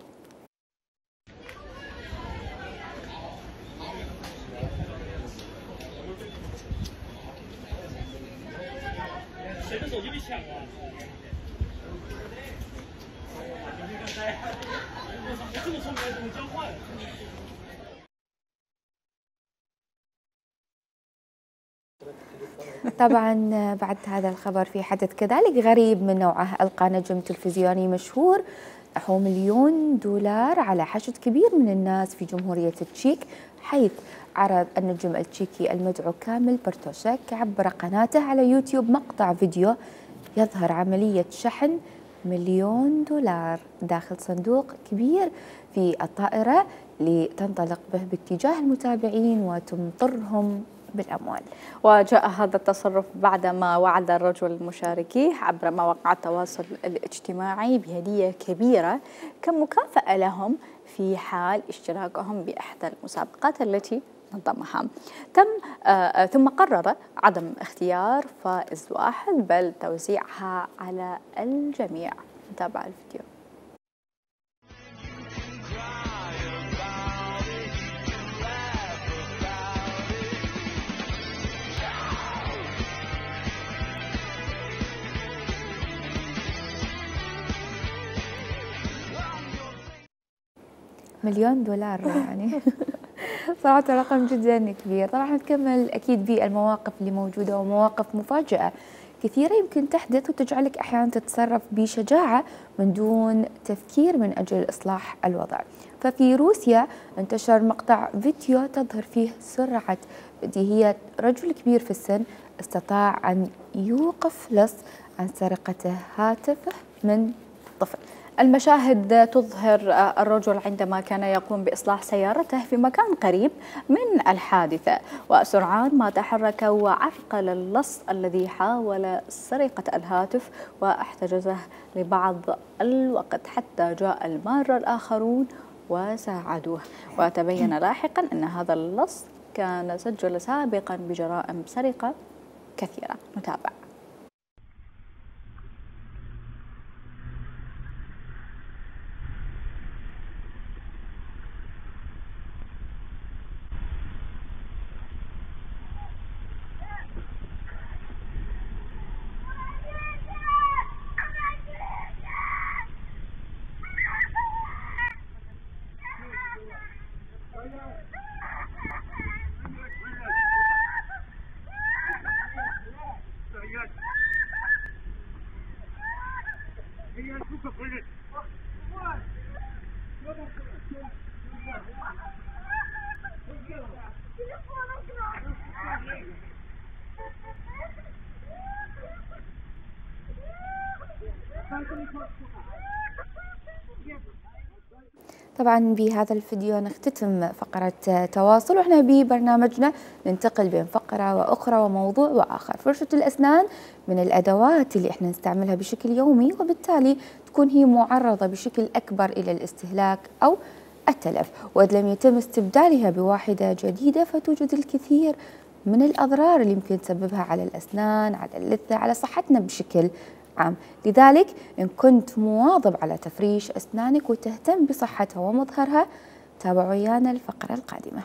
طبعا بعد هذا الخبر في حدث كذلك غريب من نوعه. ألقى نجم تلفزيوني مشهور نحو $1,000,000 على حشد كبير من الناس في جمهورية التشيك، حيث عرض النجم التشيكي المدعو كامل برتوشك عبر قناته على يوتيوب مقطع فيديو يظهر عملية شحن $1,000,000 داخل صندوق كبير في الطائرة لتنطلق به باتجاه المتابعين وتمطرهم بالأموال. وجاء هذا التصرف بعدما وعد الرجل مشاركيه عبر مواقع التواصل الاجتماعي بهدية كبيرة كمكافأة لهم في حال اشتراكهم بإحدى المسابقات التي نظمها. ثم قرر عدم اختيار فائز واحد بل توزيعها على الجميع. نتابع الفيديو. $1,000,000 يعني صراحة رقم جدا كبير. طبعا نكمل أكيد بالمواقف اللي موجودة ومواقف مفاجئة كثيرة يمكن تحدث وتجعلك أحيانا تتصرف بشجاعة من دون تفكير من أجل إصلاح الوضع. ففي روسيا انتشر مقطع فيديو تظهر فيه سرعة بديهية رجل كبير في السن استطاع أن يوقف لص عن سرقة هاتفه من طفل. المشاهد تظهر الرجل عندما كان يقوم بإصلاح سيارته في مكان قريب من الحادثة، وسرعان ما تحرك وعرقل اللص الذي حاول سرقة الهاتف واحتجزه لبعض الوقت حتى جاء المارة الآخرون وساعدوه. وتبين لاحقا أن هذا اللص كان سجل سابقا بجرائم سرقة كثيرة. نتابع. طبعا بهذا الفيديو نختتم فقرة تواصل، واحنا ببرنامجنا ننتقل بين فقرة وأخرى وموضوع وآخر. فرشة الأسنان من الأدوات اللي احنا نستعملها بشكل يومي، وبالتالي تكون هي معرضة بشكل أكبر إلى الاستهلاك أو التلف، وإذا لم يتم استبدالها بواحدة جديدة فتوجد الكثير من الأضرار اللي يمكن تسببها على الأسنان، على اللثة، على صحتنا بشكل عام. لذلك إن كنت مواظب على تفريش أسنانك وتهتم بصحتها ومظهرها، تابعوا ويانا الفقرة القادمة.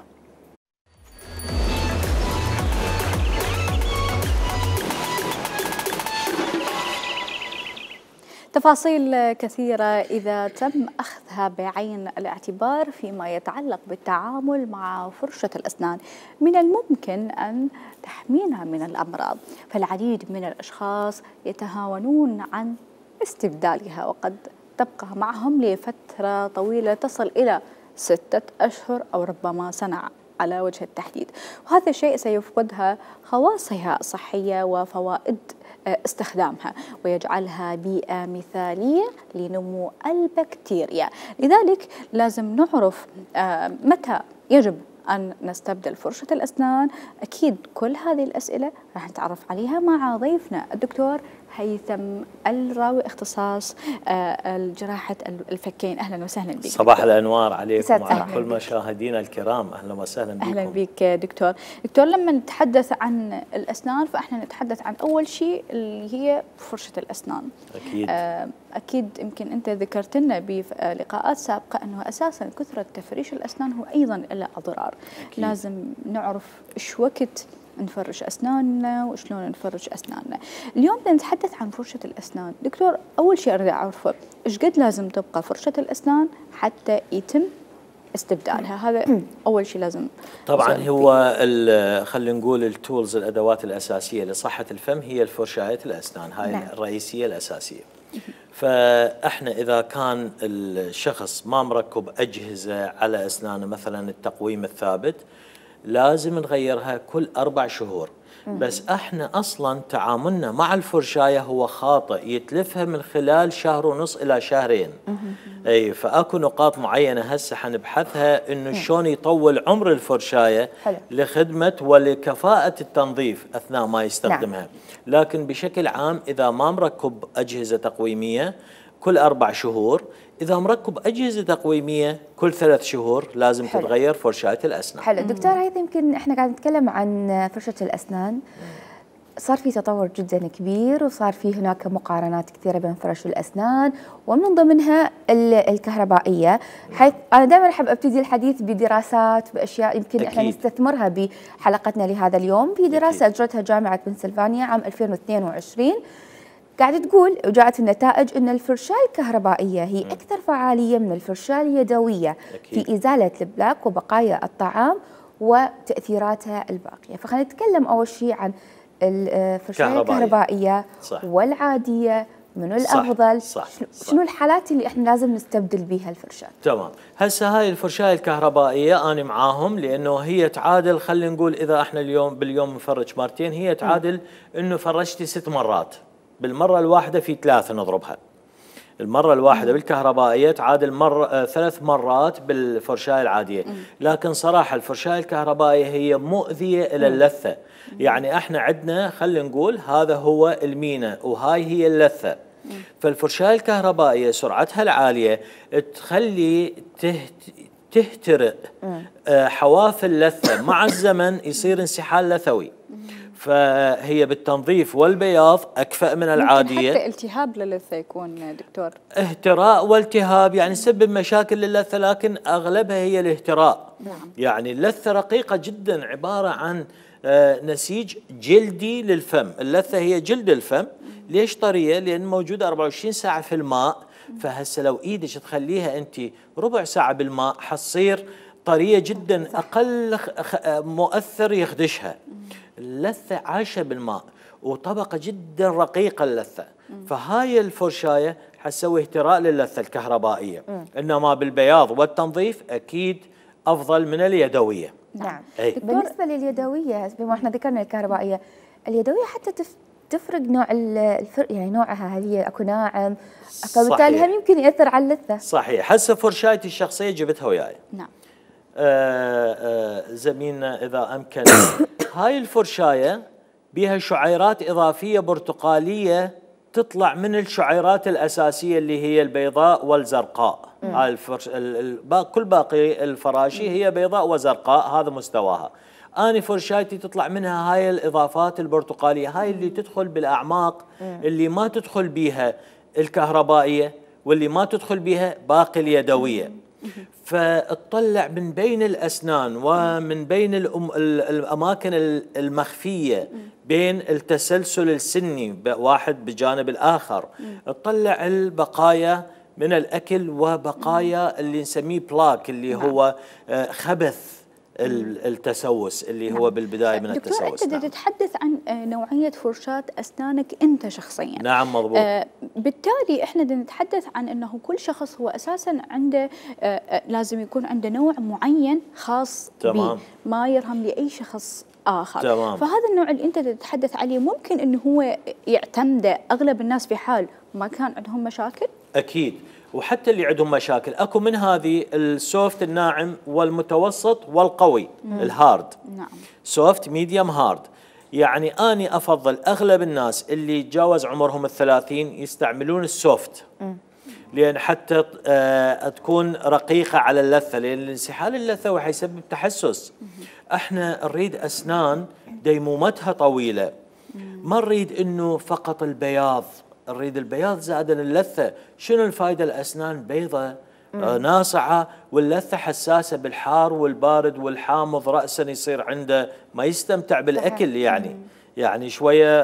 تفاصيل كثيرة إذا تم أخذها بعين الاعتبار فيما يتعلق بالتعامل مع فرشة الأسنان، من الممكن أن تحمينا من الأمراض، فالعديد من الأشخاص يتهاونون عن استبدالها وقد تبقى معهم لفترة طويلة تصل إلى 6 أشهر أو ربما سنة على وجه التحديد، وهذا الشيء سيفقدها خواصها الصحية وفوائد استخدامها ويجعلها بيئة مثالية لنمو البكتيريا. لذلك لازم نعرف متى يجب أن نستبدل فرشة الأسنان. أكيد كل هذه الأسئلة راح نتعرف عليها مع ضيفنا الدكتور هيثم الراوي، اختصاص جراحة الفكين. أهلا وسهلا بك. صباح الأنوار عليكم وعلى كل مشاهدينا الكرام. أهلا وسهلا بكم. أهلا بك دكتور. دكتور، لما نتحدث عن الأسنان فإحنا نتحدث عن أول شيء اللي هي فرشة الأسنان. أكيد. أكيد يمكن أنت ذكرت لنا بلقاءات سابقة أنه أساسا كثرة تفريش الأسنان هو أيضا له أضرار. أكيد. لازم نعرف إيش وقت نفرش أسناننا وشلون نفرش أسناننا. اليوم بنتحدث عن فرشة الأسنان. دكتور، أول شيء أريد أعرفه إيش قد لازم تبقى فرشة الأسنان حتى يتم استبدالها. هذا اول شيء لازم طبعا هو خلينا نقول التولز، الادوات الاساسيه لصحه الفم هي الفرشايه الاسنان، هاي نعم. الرئيسيه الاساسيه. فاحنا اذا كان الشخص ما مركب اجهزه على اسنانه، مثلا التقويم الثابت، لازم نغيرها كل 4 شهور. بس احنا اصلا تعاملنا مع الفرشايه هو خاطئ، يتلفها من خلال 1.5 شهر الى 2 شهر. اي فاكو نقاط معينه هسه حنبحثها انه شلون يطول عمر الفرشايه لخدمه ولكفاءه التنظيف اثناء ما يستخدمها. لكن بشكل عام اذا ما مركب اجهزه تقويميه كل 4 شهور، إذا مركب أجهزة تقويمية كل 3 شهور لازم تتغير فرشاة الأسنان. حلو دكتور، هيثم يمكن احنا قاعد نتكلم عن فرشة الأسنان، صار في تطور جدا كبير وصار في هناك مقارنات كثيرة بين فرش الأسنان ومن ضمنها الكهربائية، حيث أنا دائما أحب أبتدي الحديث بدراسات بأشياء يمكن احنا نستثمرها بحلقتنا لهذا اليوم. في دراسة أجرتها جامعة بنسلفانيا عام 2022 قاعد تقول وجاءت النتائج أن الفرشاة الكهربائية هي أكثر فعالية من الفرشاة اليدوية في إزالة البلاك وبقايا الطعام وتأثيراتها الباقية. فخلينا نتكلم أول شيء عن الفرشاة الكهربائية والعادية، منو الأفضل؟ شنو الحالات اللي احنا لازم نستبدل بها الفرشاة؟ تمام. هسه هاي الفرشاة الكهربائية أنا معاهم، لأنه هي تعادل، خلينا نقول إذا احنا باليوم نفرج مرتين، هي تعادل إنه فرشتي 6 مرات، بالمرة الواحدة في 3 نضربها. المرة الواحدة بالكهربائية تعادل 3 مرات بالفرشاة العادية. لكن صراحة الفرشاة الكهربائية هي مؤذية إلى اللثة. يعني احنا عندنا خلينا نقول هذا هو المينا وهاي هي اللثة. فالفرشاة الكهربائية سرعتها العالية تخلي تهترئ حواف اللثة، مع الزمن يصير انسحال لثوي. فهي بالتنظيف والبياض أكفأ من العادية. حتى التهاب للثة يكون دكتور، اهتراء والتهاب، يعني تسبب مشاكل للثة، لكن أغلبها هي الاهتراء. يعني اللثة رقيقة جدا، عبارة عن نسيج جلدي للفم. اللثة هي جلد الفم. ليش طرية؟ لأن موجودة 24 ساعة في الماء. فهسه لو إيدك تخليها أنت ربع ساعة بالماء حتصير طرية جدا، أقل مؤثر يخدشها. اللثة عايشة بالماء وطبقة جدا رقيقة اللثة. فهاي الفرشاية حتسوي اهتراء للثة الكهربائية. إنما بالبياض والتنظيف أكيد أفضل من اليدوية. نعم. بالنسبة لليدوية، بما احنا ذكرنا الكهربائية، اليدوية حتى تفرق نوع يعني نوعها، هل هي اكو ناعم، فبالتالي هم يمكن يأثر على اللثة. صحيح. هسه فرشايتي الشخصية جبتها وياي. نعم. زميلنا إذا أمكن هاي الفرشاية بها شعيرات إضافية برتقالية تطلع من الشعيرات الأساسية اللي هي البيضاء والزرقاء. هاي كل باقي الفراشي هي بيضاء وزرقاء، هذا مستواها. أنا فرشايتي تطلع منها هاي الإضافات البرتقالية، هاي اللي تدخل بالأعماق اللي ما تدخل بيها الكهربائية واللي ما تدخل بيها باقي اليدوية. فتطلع من بين الأسنان ومن بين الأماكن المخفية بين التسلسل السني واحد بجانب الآخر، تطلع البقايا من الأكل وبقايا اللي نسميه بلاك، اللي هو خبث التسوس اللي هو بالبداية من التسوس. دكتور، أنت تتحدث عن نوعية فرشاة أسنانك أنت شخصيا. نعم مضبوط. بالتالي إحنا نتحدث عن أنه كل شخص هو أساسا عنده لازم يكون عنده نوع معين خاص به، ما يرهم لأي شخص آخر. تمام. فهذا النوع اللي أنت تتحدث عليه ممكن أنه هو يعتمد أغلب الناس في حال ما كان عندهم مشاكل؟ أكيد. وحتى اللي عندهم مشاكل اكو من هذه السوفت الناعم والمتوسط والقوي الهارد. نعم. سوفت ميديوم هارد. يعني اني افضل اغلب الناس اللي تجاوز عمرهم ال30 يستعملون السوفت، لان حتى تكون رقيقه على اللثه، لان انسحال اللثه وحيسبب تحسس. احنا نريد اسنان ديمومتها طويله، ما نريد انه فقط البياض، نريد البياض زائدا اللثة. شنو الفائدة؟ الأسنان بيضة ناصعة واللثة حساسة بالحار والبارد والحامض، رأسا يصير عنده ما يستمتع بالأكل. يعني شوية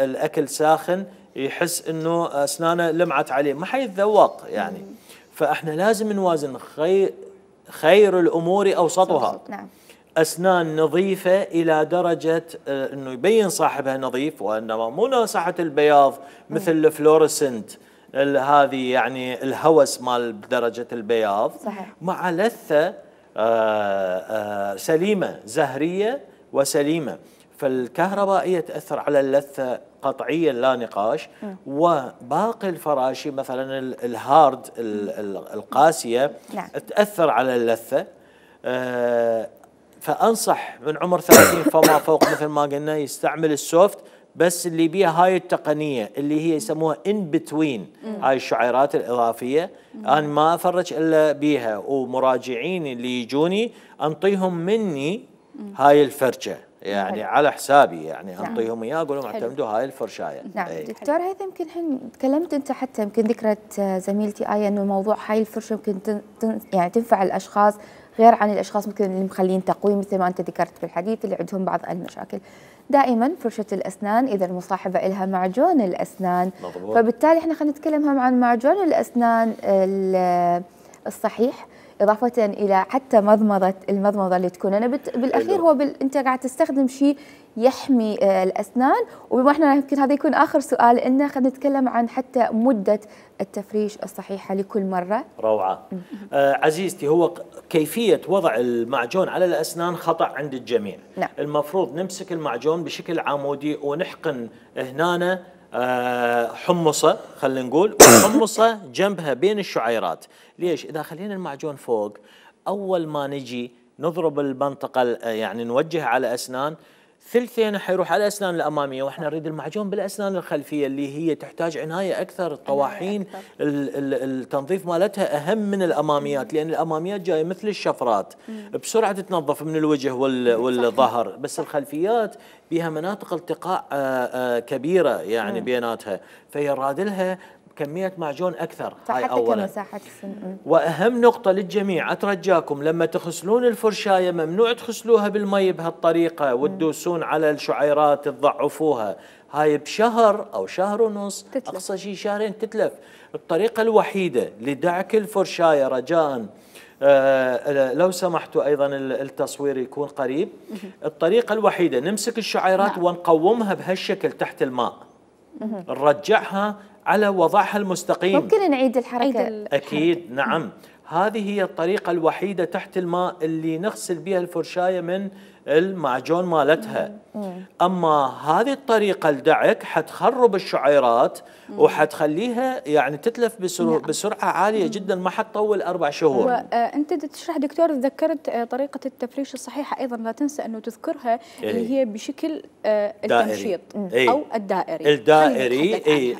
الأكل ساخن يحس إنه أسنانه لمعت عليه، ما حيتذوق يعني. فإحنا لازم نوازن خير الأمور أوسطها. نعم. أسنان نظيفة إلى درجة أنه يبين صاحبها نظيف، وإنما مو ناصحة البياض مثل الفلورسنت هذه، يعني الهوس مال درجة البياض. صحيح. مع لثة سليمة، زهرية وسليمة. فالكهربائية تأثر على اللثة قطعيا لا نقاش، وباقي الفراشي مثلا الهارد القاسية نعم. تأثر على اللثة. فأنصح من عمر 30 فما فوق مثل ما قلنا يستعمل السوفت، بس اللي بيها هاي التقنية اللي هي يسموها in between، هاي الشعيرات الإضافية أنا ما أفرج إلا بيها، ومراجعيني اللي يجوني أنطيهم مني هاي الفرشة، يعني على حسابي، يعني أنطيهم إياه أقول لهم اعتمدوا هاي الفرشاية. نعم. دكتور هيثم، يمكن الحين تكلمت أنت حتى يمكن ذكرت زميلتي آية إنه موضوع هاي الفرشة يمكن يعني تنفع الأشخاص غير عن الأشخاص ممكن اللي مخلين تقويم مثل ما أنت ذكرت بالحديث اللي عندهم بعض المشاكل. دائما فرشة الأسنان إذا المصاحبة لها معجون الأسنان، فبالتالي احنا خلينا نتكلم هم عن معجون الأسنان الصحيح، إضافة إلى حتى المضمضة اللي تكون أنا بالأخير هو أنت قاعد تستخدم شيء يحمي الأسنان. وبما احنا يمكن هذا يكون آخر سؤال إنه خلينا نتكلم عن حتى مدة التفريش الصحيحة لكل مرة. روعة. عزيزتي، هو كيفية وضع المعجون على الأسنان خطأ عند الجميع. نعم. المفروض نمسك المعجون بشكل عمودي ونحقن هنا حمصة، خلينا نقول حمصة جنبها بين الشعيرات. ليش؟ إذا خلينا المعجون فوق، أول ما نجي نضرب المنطقة يعني نوجه على أسنان، ثلثين حيروح على الأسنان الأمامية، وإحنا نريد المعجون بالأسنان الخلفية اللي هي تحتاج عناية أكثر. الطواحين التنظيف مالتها أهم من الأماميات، لأن الأماميات جاية مثل الشفرات بسرعة تتنظف من الوجه والظهر، بس الخلفيات بها مناطق التقاء كبيرة يعني بيناتها، فيراد لها كمية معجون أكثر. هاي حتى أولا. كمساحة السن. وأهم نقطة للجميع، أترجاكم لما تغسلون الفرشاية ممنوع تغسلوها بالمي بهالطريقة وتدوسون على الشعيرات تضعفوها. هاي بشهر أو شهر ونص تتلف. أقصى شيء شهرين تتلف. الطريقة الوحيدة لدعك الفرشاية رجاءً لو سمحتوا أيضا التصوير يكون قريب، الطريقة الوحيدة نمسك الشعيرات ونقومها بهالشكل تحت الماء، نرجعها على وضعها المستقيم. ممكن نعيد الحركة؟ أكيد نعم. هذه هي الطريقة الوحيدة تحت الماء اللي نغسل بها الفرشاية من المعجون مالتها. أما هذه الطريقة الدعك حتخرب الشعيرات وحتخليها يعني تتلف بسرعة عالية جدا، ما حتطول 4 شهور. وأنت تشرح دكتور، ذكرت طريقة التفريش الصحيحة أيضا لا تنسى أنه تذكرها اللي هي بشكل التمشيط أو الدائري.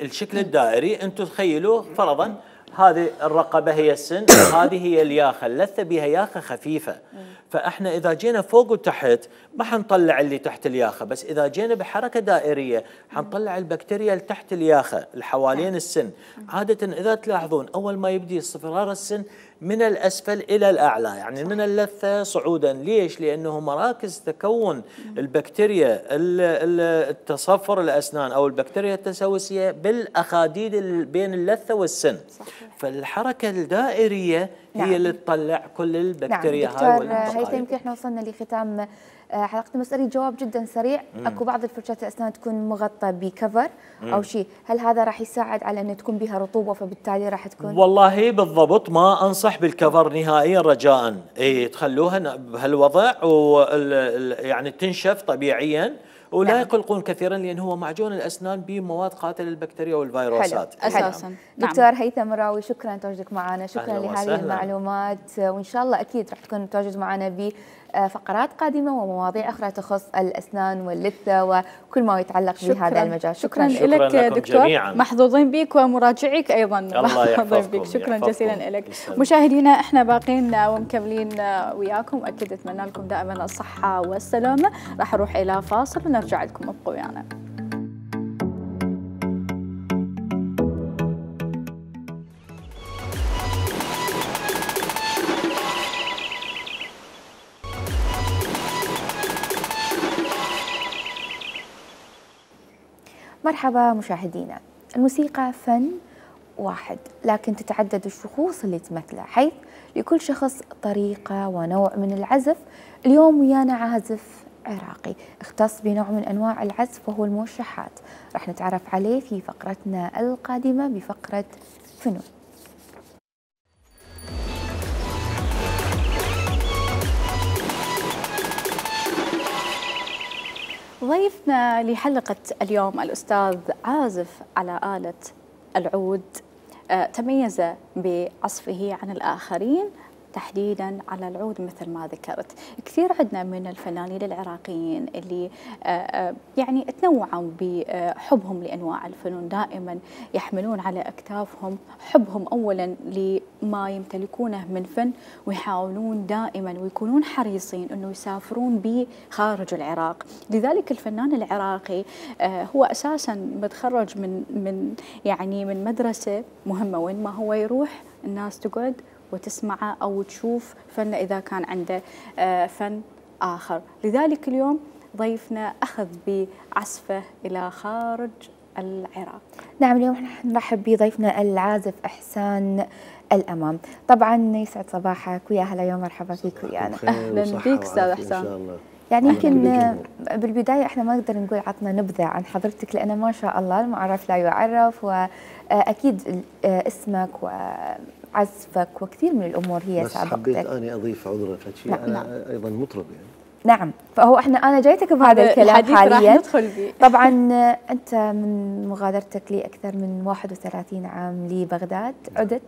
الشكل الدائري. أنتم تخيلوا فرضا هذه الرقبة هي السن، وهذه هي الياخة، اللثة بها ياخة خفيفة. فاحنا اذا جينا فوق وتحت ما حنطلع اللي تحت الياخة، بس اذا جينا بحركة دائرية حنطلع البكتيريا اللي تحت الياخة اللي حوالين السن. عادة اذا تلاحظون اول ما يبدي اصفرار السن من الاسفل الى الاعلى، يعني من اللثة صعودا. ليش؟ لانه مراكز تكون البكتيريا التصفر الاسنان او البكتيريا التسوسية بالاخاديد بين اللثة والسن. فالحركة الدائرية هي اللي تطلع كل البكتيريا هاي والبقايا. هيثم يمكن احنا وصلنا لختام حلقتنا، بس اريد جواب جدا سريع. اكو بعض الفرشات الاسنان تكون مغطى بكفر او شيء، هل هذا راح يساعد على ان تكون بها رطوبه فبالتالي راح تكون؟ والله بالضبط ما انصح بالكفر نهائيا رجاء. تخلوها بهالوضع يعني تنشف طبيعيا ولا يقلقون كثيرا، لأن هو معجون الأسنان بمواد قاتلة للبكتيريا والفيروسات أساسا. دكتور هيثم مراوي، شكرا لتواجدك معنا، شكرا لهذه المعلومات، وإن شاء الله أكيد راح تكون متواجد معنا بفقرات قادمة ومواضيع أخرى تخص الأسنان واللثة وكل ما يتعلق بهذا المجال. شكرا لك دكتور، جميعاً. محظوظين بك ومراجعيك أيضا محظوظين بك. شكرا جزيلا لك. مشاهدينا احنا باقين ومكملين وياكم، أكيد أتمنى لكم دائما الصحة والسلامة. راح أروح إلى فاصل ونرجع لكم، ابقوا ويانا. مرحبا مشاهدينا. الموسيقى فن واحد لكن تتعدد الشخوص اللي تمثله، حيث لكل شخص طريقة ونوع من العزف. اليوم ويانا عازف عراقي اختص بنوع من أنواع العزف وهو الموشحات، راح نتعرف عليه في فقرتنا القادمة بفقرة فنون. ضيفنا لحلقة اليوم الأستاذ عازف على آلة العود، تميز بعزفه عن الآخرين تحديدا على العود مثل ما ذكرت. كثير عندنا من الفنانين العراقيين اللي يعني تنوعوا بحبهم لأنواع الفنون، دائما يحملون على أكتافهم حبهم أولا لما يمتلكونه من فن، ويحاولون دائما ويكونون حريصين أنه يسافرون به خارج العراق. لذلك الفنان العراقي هو أساسا متخرج من مدرسة مهمة، وين ما هو يروح الناس تقعد وتسمعه أو تشوف فن إذا كان عنده فن آخر. لذلك اليوم ضيفنا أخذ بعزفه إلى خارج العراق. نعم، اليوم نرحب بضيفنا العازف إحسان الأمام. طبعا يسعد صباحك ويا هلا، يوم مرحبا فيك ويانا. أهلا بك أستاذ إحسان. يعني يمكن بالبداية احنا ما نقدر نقول عطنا نبذة عن حضرتك، لأن ما شاء الله المعرف لا يعرف، وأكيد اسمك وعزفك وكثير من الأمور هي بس سابقتك. حبيت أنا أضيف عذرة فشي. نعم. أنا أيضا مطرب يعني. نعم، فهو أنا جايتك بهذا الكلام حاليا. طبعا أنت من مغادرتك لي أكثر من 31 عام لبغداد عدت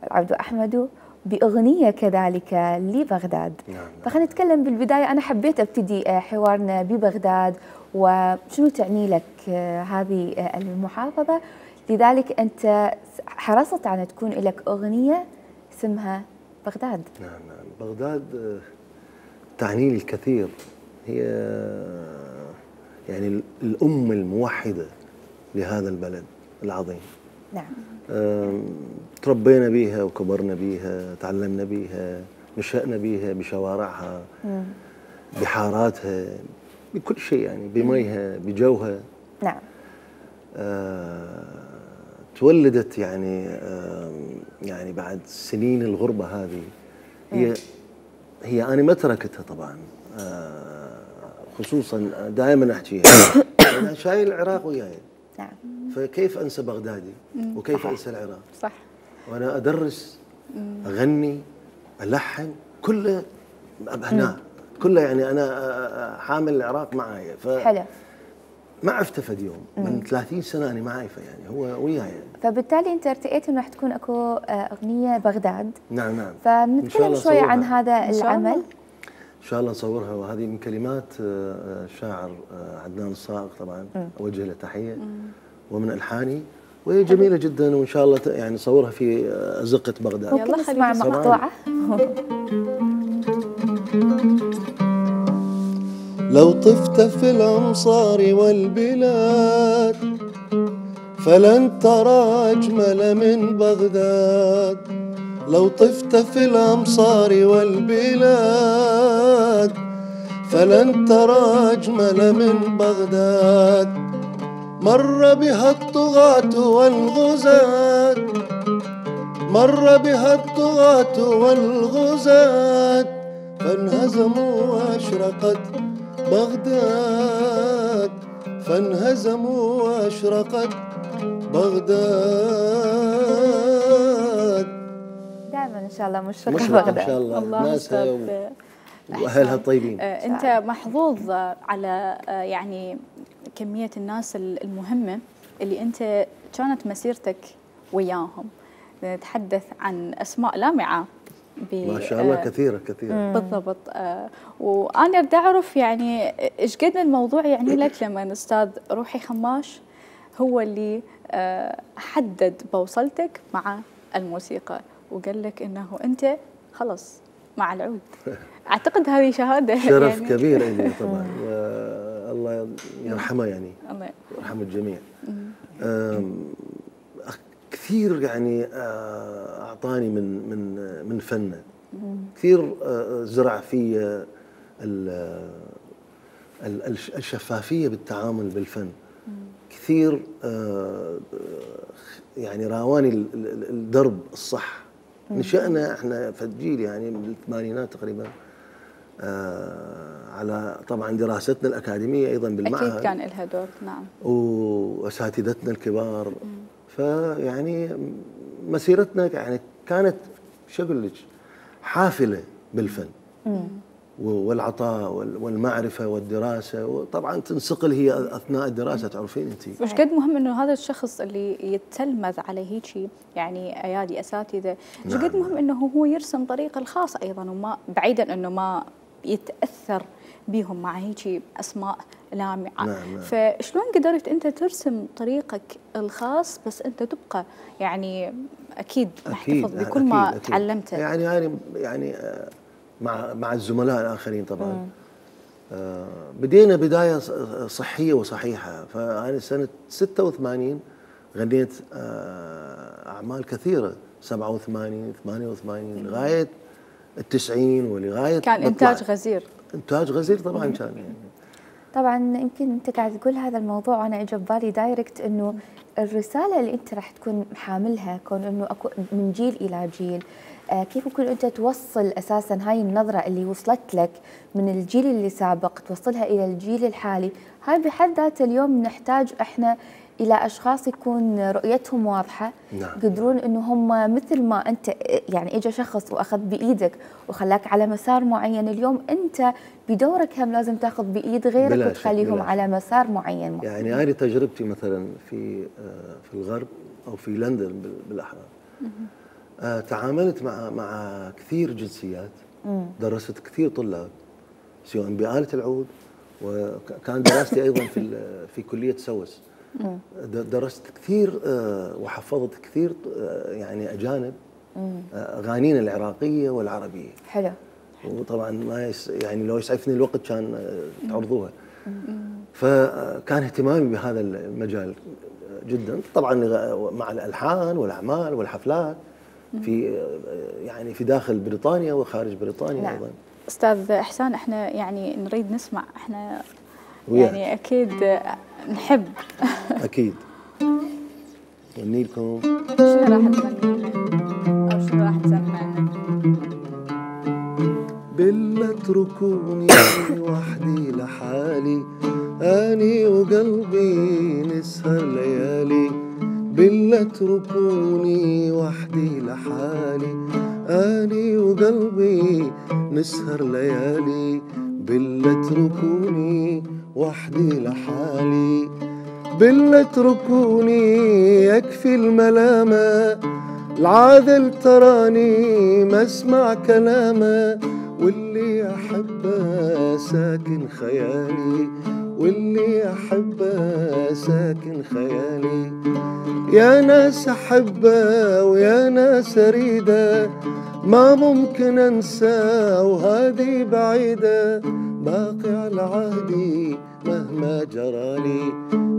والعبد أحمد بأغنية كذلك لبغداد. نعم. فخلينا نتكلم بالبداية، أنا حبيت أبتدي حوارنا ببغداد وشنو تعني لك هذه المحافظة، لذلك أنت حرصت على تكون لك أغنية اسمها بغداد. نعم. بغداد تعني لي الكثير، هي يعني الأم الموحدة لهذا البلد العظيم. نعم. تربينا بيها وكبرنا بيها، تعلمنا بيها، نشأنا بيها بشوارعها، بحاراتها، بكل شيء يعني، بميها، بجوها. نعم. تولدت يعني بعد سنين الغربة هذه، هي أنا ما تركتها طبعا، خصوصا دائما أحكيها أنا شايل العراق وياي. نعم. فكيف أنسى بغدادي وكيف أنسى العراق؟ صح. وأنا أدرس، أغني، ألحن، كله هنا، كله يعني أنا حامل العراق معايا. حلو. ما عفت يوم من 30 سنة أنا ما عايفة يعني، هو وياي يعني. فبالتالي أنت ارتئيت إنه راح تكون أكو أغنية بغداد. نعم. فبنتكلم شوي عن هذا العمل. إن شاء الله نصورها، وهذه من كلمات الشاعر عدنان الصائغ طبعا، أوجه له تحية، ومن ألحاني، وهي جميلة جدا، وإن شاء الله يعني نصورها في أزقة بغداد. ممكن نسمع مقطوعة؟ لو طفت في الأمصار والبلاد فلن ترى أجمل من بغداد. لو طفت في الأمصار والبلاد فلن ترى أجمل من بغداد. مر بها الطغاة والغزاة، مر بها الطغاة والغزاة، فانهزموا وأشرقت بغداد، فانهزموا وأشرقت بغداد. دائما إن شاء الله مشرقة بغداد إن شاء الله، ناسها وأهلها الطيبين. أنت محظوظ على يعني كمية الناس المهمة اللي أنت كانت مسيرتك وياهم. نتحدث عن أسماء لامعة ما شاء الله، كثيرة. بالضبط. وأنا أريد أعرف يعني إيش قد الموضوع يعني لك لما أستاذ روحي خماش هو اللي حدد بوصلتك مع الموسيقى وقال لك إنه أنت خلص مع العود. أعتقد هذه شهادة شرف يعني كبير لي طبعا، والله يرحمه يعني، الله يرحم الجميع. كثير يعني أعطاني من فنه، كثير زرع في الشفافية بالتعامل بالفن، كثير يعني راواني الدرب الصح. نشأنا احنا في الجيل يعني بالثمانينات تقريبا على طبعا دراستنا الأكاديمية أيضا بالمعهد، أكيد كان لها دور. نعم. وأساتذتنا الكبار. فيعني مسيرتنا يعني كانت شو أقول لك حافلة بالفن والعطاء والمعرفة والدراسة، وطبعا تنسقل هي أثناء الدراسة. تعرفين أنت وش قد مهم إنه هذا الشخص اللي يتلمذ على هيك يعني أيادي أساتذة، وش قد مهم إنه هو يرسم طريقه الخاص أيضا، وما بعيدا إنه ما يتأثر بيهم مع هيك أسماء لامعة. نعم. فشلون قدرت أنت ترسم طريقك الخاص بس أنت تبقى يعني أكيد محتفظ بكل ما تعلمته؟ يعني مع الزملاء الآخرين طبعا. بدينا بداية صحية وصحيحة. فأنا سنة 86 غنيت أعمال كثيرة، 87 88 لغاية ال90 ولغاية كان إنتاج غزير. إنتاج غزير طبعا كان يعني. طبعا يمكن انت قاعد تقول هذا الموضوع وانا اجى ببالي دايركت انه الرساله اللي انت راح تكون حاملها كون انه اكو من جيل الى جيل، كيف ممكن انت توصل اساسا هاي النظره اللي وصلت لك من الجيل اللي سابق توصلها الى الجيل الحالي. هاي بحد ذاتها اليوم نحتاج احنا الى اشخاص يكون رؤيتهم واضحه. نعم. يقدرون انه هم مثل ما انت يعني اجى شخص واخذ بايدك وخلاك على مسار معين، اليوم انت بدورك هم لازم تاخذ بايد غيرك وتخليهم على مسار معين. يعني هذه تجربتي مثلا في الغرب او في لندن بالاحرى. تعاملت مع كثير جنسيات، درست كثير طلاب سواء بآلة العود، وكان دراستي ايضا في كلية سوس. درست كثير وحفظت كثير يعني اجانب اغانينا العراقيه والعربيه. حلو. وطبعا ما يعني لو يسعفني الوقت كان تعرضوها. فكان اهتمامي بهذا المجال جدا، طبعا مع الالحان والاعمال والحفلات في داخل بريطانيا وخارج بريطانيا. نعم. ايضا. استاذ احسان، احنا يعني نريد نسمع، احنا يعني اكيد نحب. اكيد. غني لكم. شنو راح تغني لنا او شنو راح تسمعنا؟ بالله اتركوني وحدي لحالي، اني وقلبي نسهر ليالي. بالله اتركوني وحدي لحالي، اني وقلبي نسهر ليالي. بالله اتركوني وحدي لحالي، بالله اتركوني يكفي الملامة. العاذل تراني ما اسمع كلامه، واللي احبه ساكن خيالي، واللي احبه ساكن خيالي. يا ناس احبه ويا ناس اريده، ما ممكن انسى وهذه بعيده. باقي على عهدي مهما جرالي،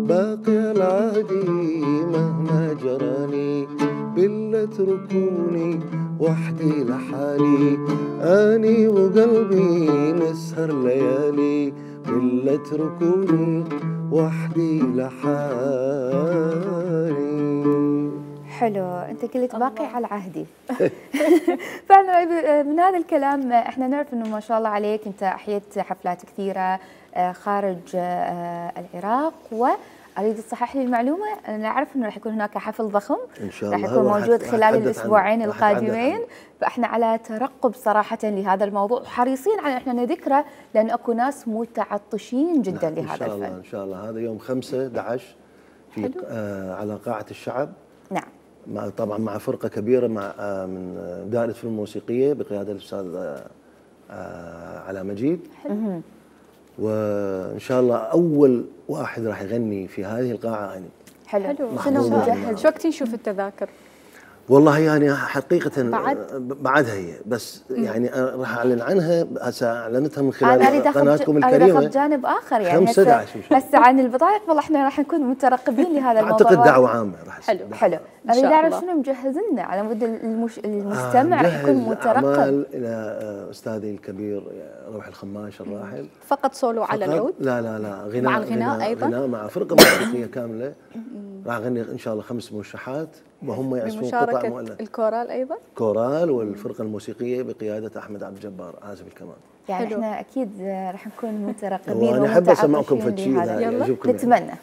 باقي على عهدي مهما جرالي. بالله اتركوني وحدي لحالي، اني وقلبي نسهر ليالي. بالله اتركوني وحدي لحالي. حلو، انت قلت باقي على عهدي. فعلا من هذا الكلام احنا نعرف انه ما شاء الله عليك انت احييت حفلات كثيره خارج العراق، واريد تصحح لي المعلومه، انا اعرف انه راح يكون هناك حفل ضخم ان شاء الله راح يكون موجود خلال الاسبوعين القادمين، فاحنا على ترقب صراحه لهذا الموضوع وحريصين على احنا نذكره، لان اكو ناس متعطشين جدا لهذا الفن. ان شاء الله هذا يوم 5/11 في على قاعه الشعب. نعم. طبعا مع فرقه كبيره من دائره الفنون الموسيقيه بقياده الاستاذ علاء مجيد. حلو. وان شاء الله اول واحد راح يغني في هذه القاعه اني. حلو. شنو مجهز؟ شو وقت نشوف التذاكر؟ والله يعني حقيقة بعدها هي، بس يعني راح اعلن عنها هسه، اعلنتها من خلال قناتكم الكريمه. انا جانب اخر يعني 5/11 هسه عن البضائع، والله احنا راح نكون مترقبين لهذا الموضوع. اعتقد دعوه عامه راح تصير. حلو. اريد اعرف شنو مجهز لنا على مود المستمع يكون مترقب. اعمال الى استاذي الكبير روح الخماش الراحل. فقط سولو على العود؟ لا غناء مع الغناء ايضا؟ غناء مع فرقه موسيقيه كامله. راح اغني ان شاء الله 5 موشحات وهم يعزفون قطع بمشاركة مؤلفة. الكورال ايضا؟ كورال والفرقه الموسيقيه بقياده احمد عبد الجبار عازف الكمان. يعني حلو. احنا اكيد راح نكون مترقبين وانا احب اسمعكم فد شيء يعجبكم. نتمنى.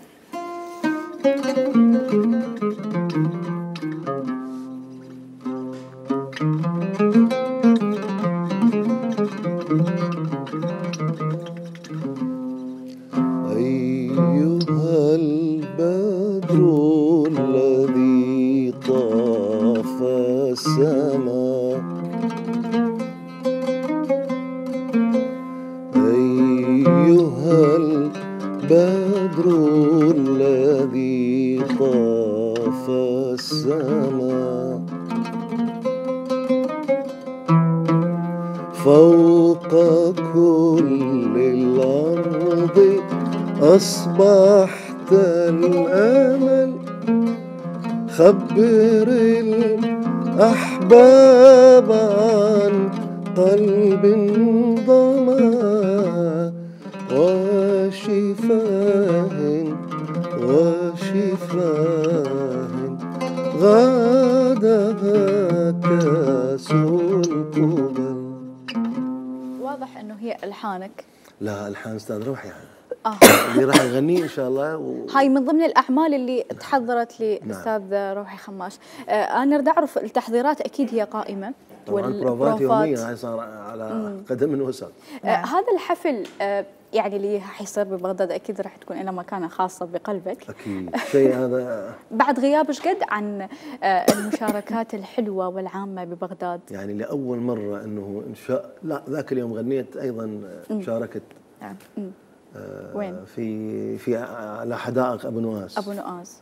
أيها البدر الذي طاف السماء أيها البدر الذي طاف السماء فوق كل الأرض أصبحت الأمل خبر الأحباب عن قلب ضما وشفاه غادها كاس القبل. واضح انه هي الحانك. لا الحان استاذ روحي يعني. اللي راح يغنيه ان شاء الله هاي من ضمن الاعمال اللي تحضرت لاستاذ روحي خماش. انا اريد اعرف التحضيرات اكيد هي قائمه طبعا البروفات يوميا هاي صار على قدم وساق. هذا الحفل يعني اللي حيصير ببغداد اكيد راح تكون له مكانه خاصه بقلبك. اكيد شيء هذا بعد غياب ايش قد عن المشاركات الحلوه والعامه ببغداد. يعني لاول مره انه لا ذاك اليوم غنيت ايضا شاركت وين؟ في على حدائق ابو نواس. ابو نواس.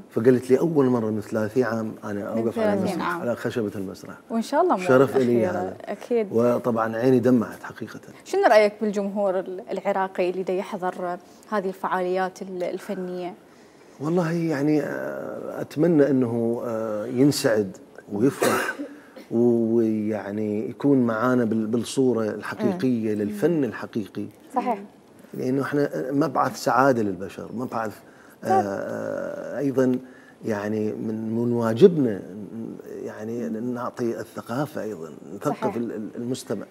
فقالت لي اول مره من 30 عام انا اوقف على المسرح على خشبه المسرح. وان شاء الله شرف لي هذا اكيد. وطبعا عيني دمعت حقيقه. شنو رايك بالجمهور العراقي اللي دا يحضر هذه الفعاليات الفنيه؟ والله يعني اتمنى انه ينسعد ويفرح ويعني يكون معانا بالصوره الحقيقيه للفن الحقيقي. صحيح. لانه احنا مبعث سعاده للبشر، مبعث ايضا يعني من واجبنا يعني نعطي الثقافه ايضا، نثقف المستمع.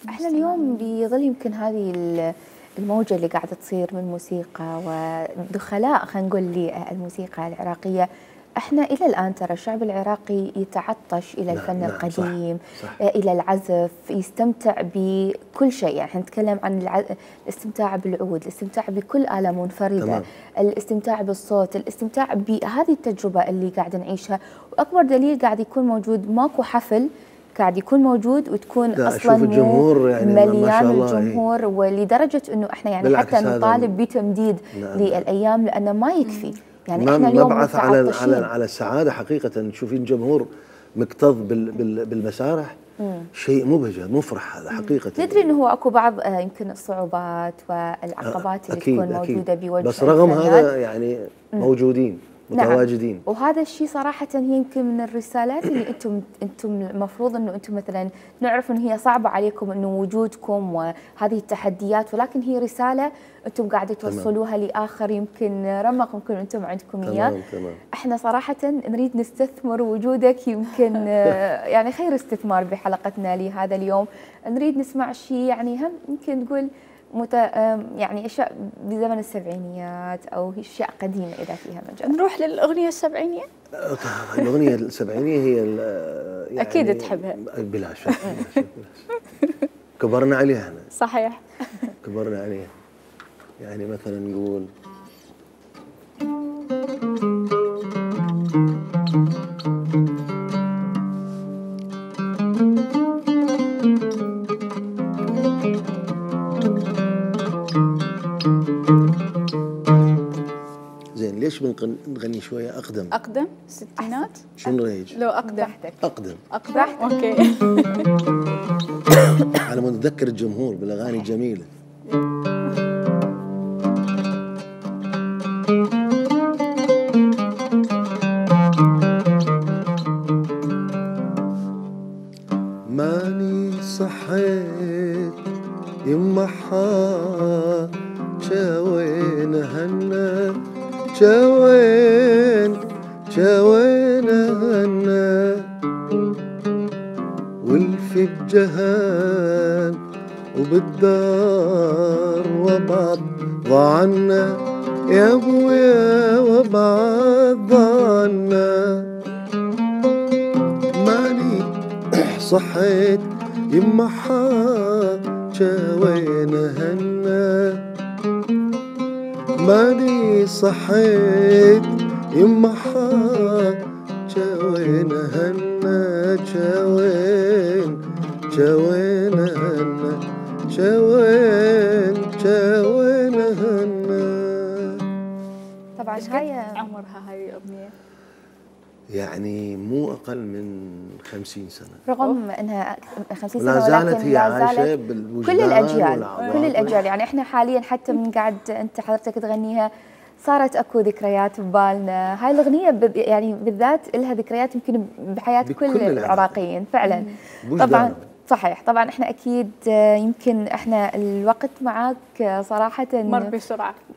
احنا اليوم بظل يمكن هذه الموجه اللي قاعده تصير من موسيقى ودخلاء خلينا نقول للموسيقى العراقيه، احنا الى الان ترى الشعب العراقي يتعطش الى الفن القديم، صح. الى العزف، يستمتع بكل شيء، يعني نتكلم عن الاستمتاع بالعود، الاستمتاع بكل آلة منفردة، تمام. الاستمتاع بالصوت، الاستمتاع بهذه التجربة اللي قاعد نعيشها، واكبر دليل قاعد يكون موجود ماكو حفل قاعد يكون موجود وتكون اصلا الجمهور يعني مليان الجمهور، ولدرجه انه احنا يعني حتى نطالب بتمديد للايام لانه ما يكفي. يعني احنا اليوم مبعث على السعاده حقيقه. تشوفين الجمهور مكتظ بالمسارح، شيء مبهج مفرح هذا حقيقه. ندري انه هو اكو بعض يمكن الصعوبات والعقبات اللي تكون موجوده بوجه بس رغم هذا يعني موجودين متواجدين. نعم. وهذا الشيء صراحه هي يمكن من الرسالات اللي انتم المفروض انه انتم مثلا نعرف انه هي صعبه عليكم انه وجودكم وهذه التحديات، ولكن هي رساله انتم قاعده توصلوها لاخر يمكن رمق يمكن انتم عندكم اياه. احنا صراحه نريد نستثمر وجودك، يمكن يعني خير استثمار بحلقتنا لهذا اليوم. نريد نسمع شيء يعني هم يمكن تقول يعني اشياء بزمن السبعينيات او اشياء قديمه اذا فيها مجال. نروح للاغنيه السبعينيه. الاغنيه السبعينيه هي يعني اكيد تحبها بلا شك. كبرنا عليها احنا. صحيح. كبرنا عليها. يعني مثلا نقول زين ليش نغني شويه اقدم الستينات؟ شنو ريج؟ لو اقدم اقدم اوكي. على ما نتذكر الجمهور بالاغاني الجميله. ماني صحيت يما جاوين هنا جاوين جاوينا هنا والفي بجهان وبالدار وبعض ضعنا يا ابويا وبعض ضعنا ماني صحيت يما جاوينا هنا ماني صحيت يما جاوينا هنا جاوينا هنا جاوينا هنا. طبعا هاي عمرها هاي الأغنية؟ يعني مو أقل من 50 سنة، رغم أنها 50 سنة لا زالت ولكن هي لا عايشة زالت بالوجدان كل الأجيال والعواطف. كل الأجيال. يعني إحنا حاليا حتى من قاعد أنت حضرتك تغنيها صارت اكو ذكريات ببالنا. هاي الاغنيه يعني بالذات لها ذكريات يمكن بحياه كل العراقيين فعلا. طبعا صحيح. طبعا احنا اكيد يمكن احنا الوقت معك صراحه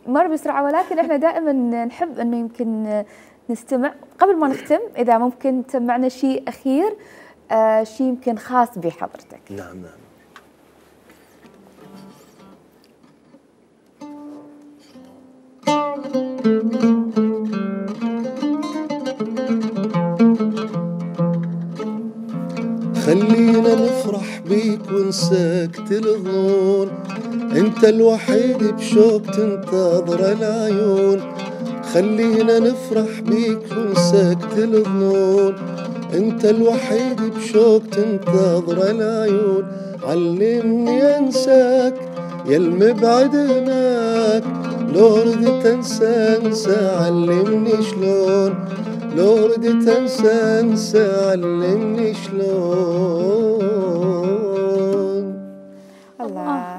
مر بسرعه ولكن احنا دائما نحب انه يمكن نستمع. قبل ما نختم اذا ممكن تسمعنا شيء اخير، شيء يمكن خاص بحضرتك. نعم. خلينا نفرح بيك ونسكت الظنون، انت الوحيد بشوق تنتظر العيون. خلينا نفرح بيك ونسكت الظنون، انت الوحيد بشوق تنتظر العيون. علمني انساك يا المبعد هناك، لو ردت انسى علمني شلون، لو ردت انسى علمني شلون.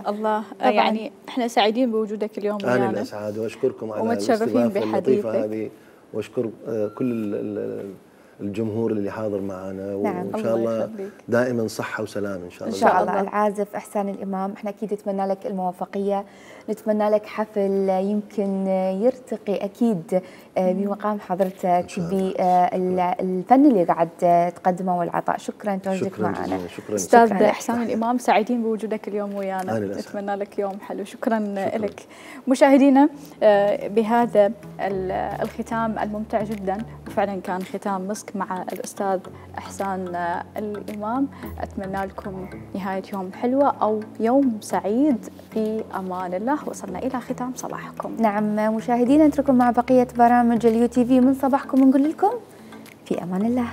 الله يعني احنا سعيدين بوجودك اليوم ويانا. انا الاسعد واشكركم على ومتشرفين اللطيفه هذه، واشكر كل الجمهور اللي حاضر معنا. نعم. وان شاء الله دائما صحه وسلام ان شاء الله. ان شاء الله. العازف احسان الامام، احنا اكيد نتمنى لك الموفقيه، نتمنى لك حفل يمكن يرتقي اكيد بمقام حضرتك بالفن اللي قاعد تقدمه والعطاء. شكرا تواجدك معنا. استاذ احسان الامام، سعيدين بوجودك اليوم ويانا، نتمنى لك يوم حلو. شكرا لك. مشاهدينا بهذا الختام الممتع جدا، وفعلا كان ختام مسك مع الاستاذ احسان الامام. اتمنى لكم نهايه يوم حلوه او يوم سعيد في امان الله. وصلنا الى ختام صباحكم. نعم مشاهدينا، نترككم مع بقيه برامج اليو تي في من صباحكم، ونقول لكم في امان الله.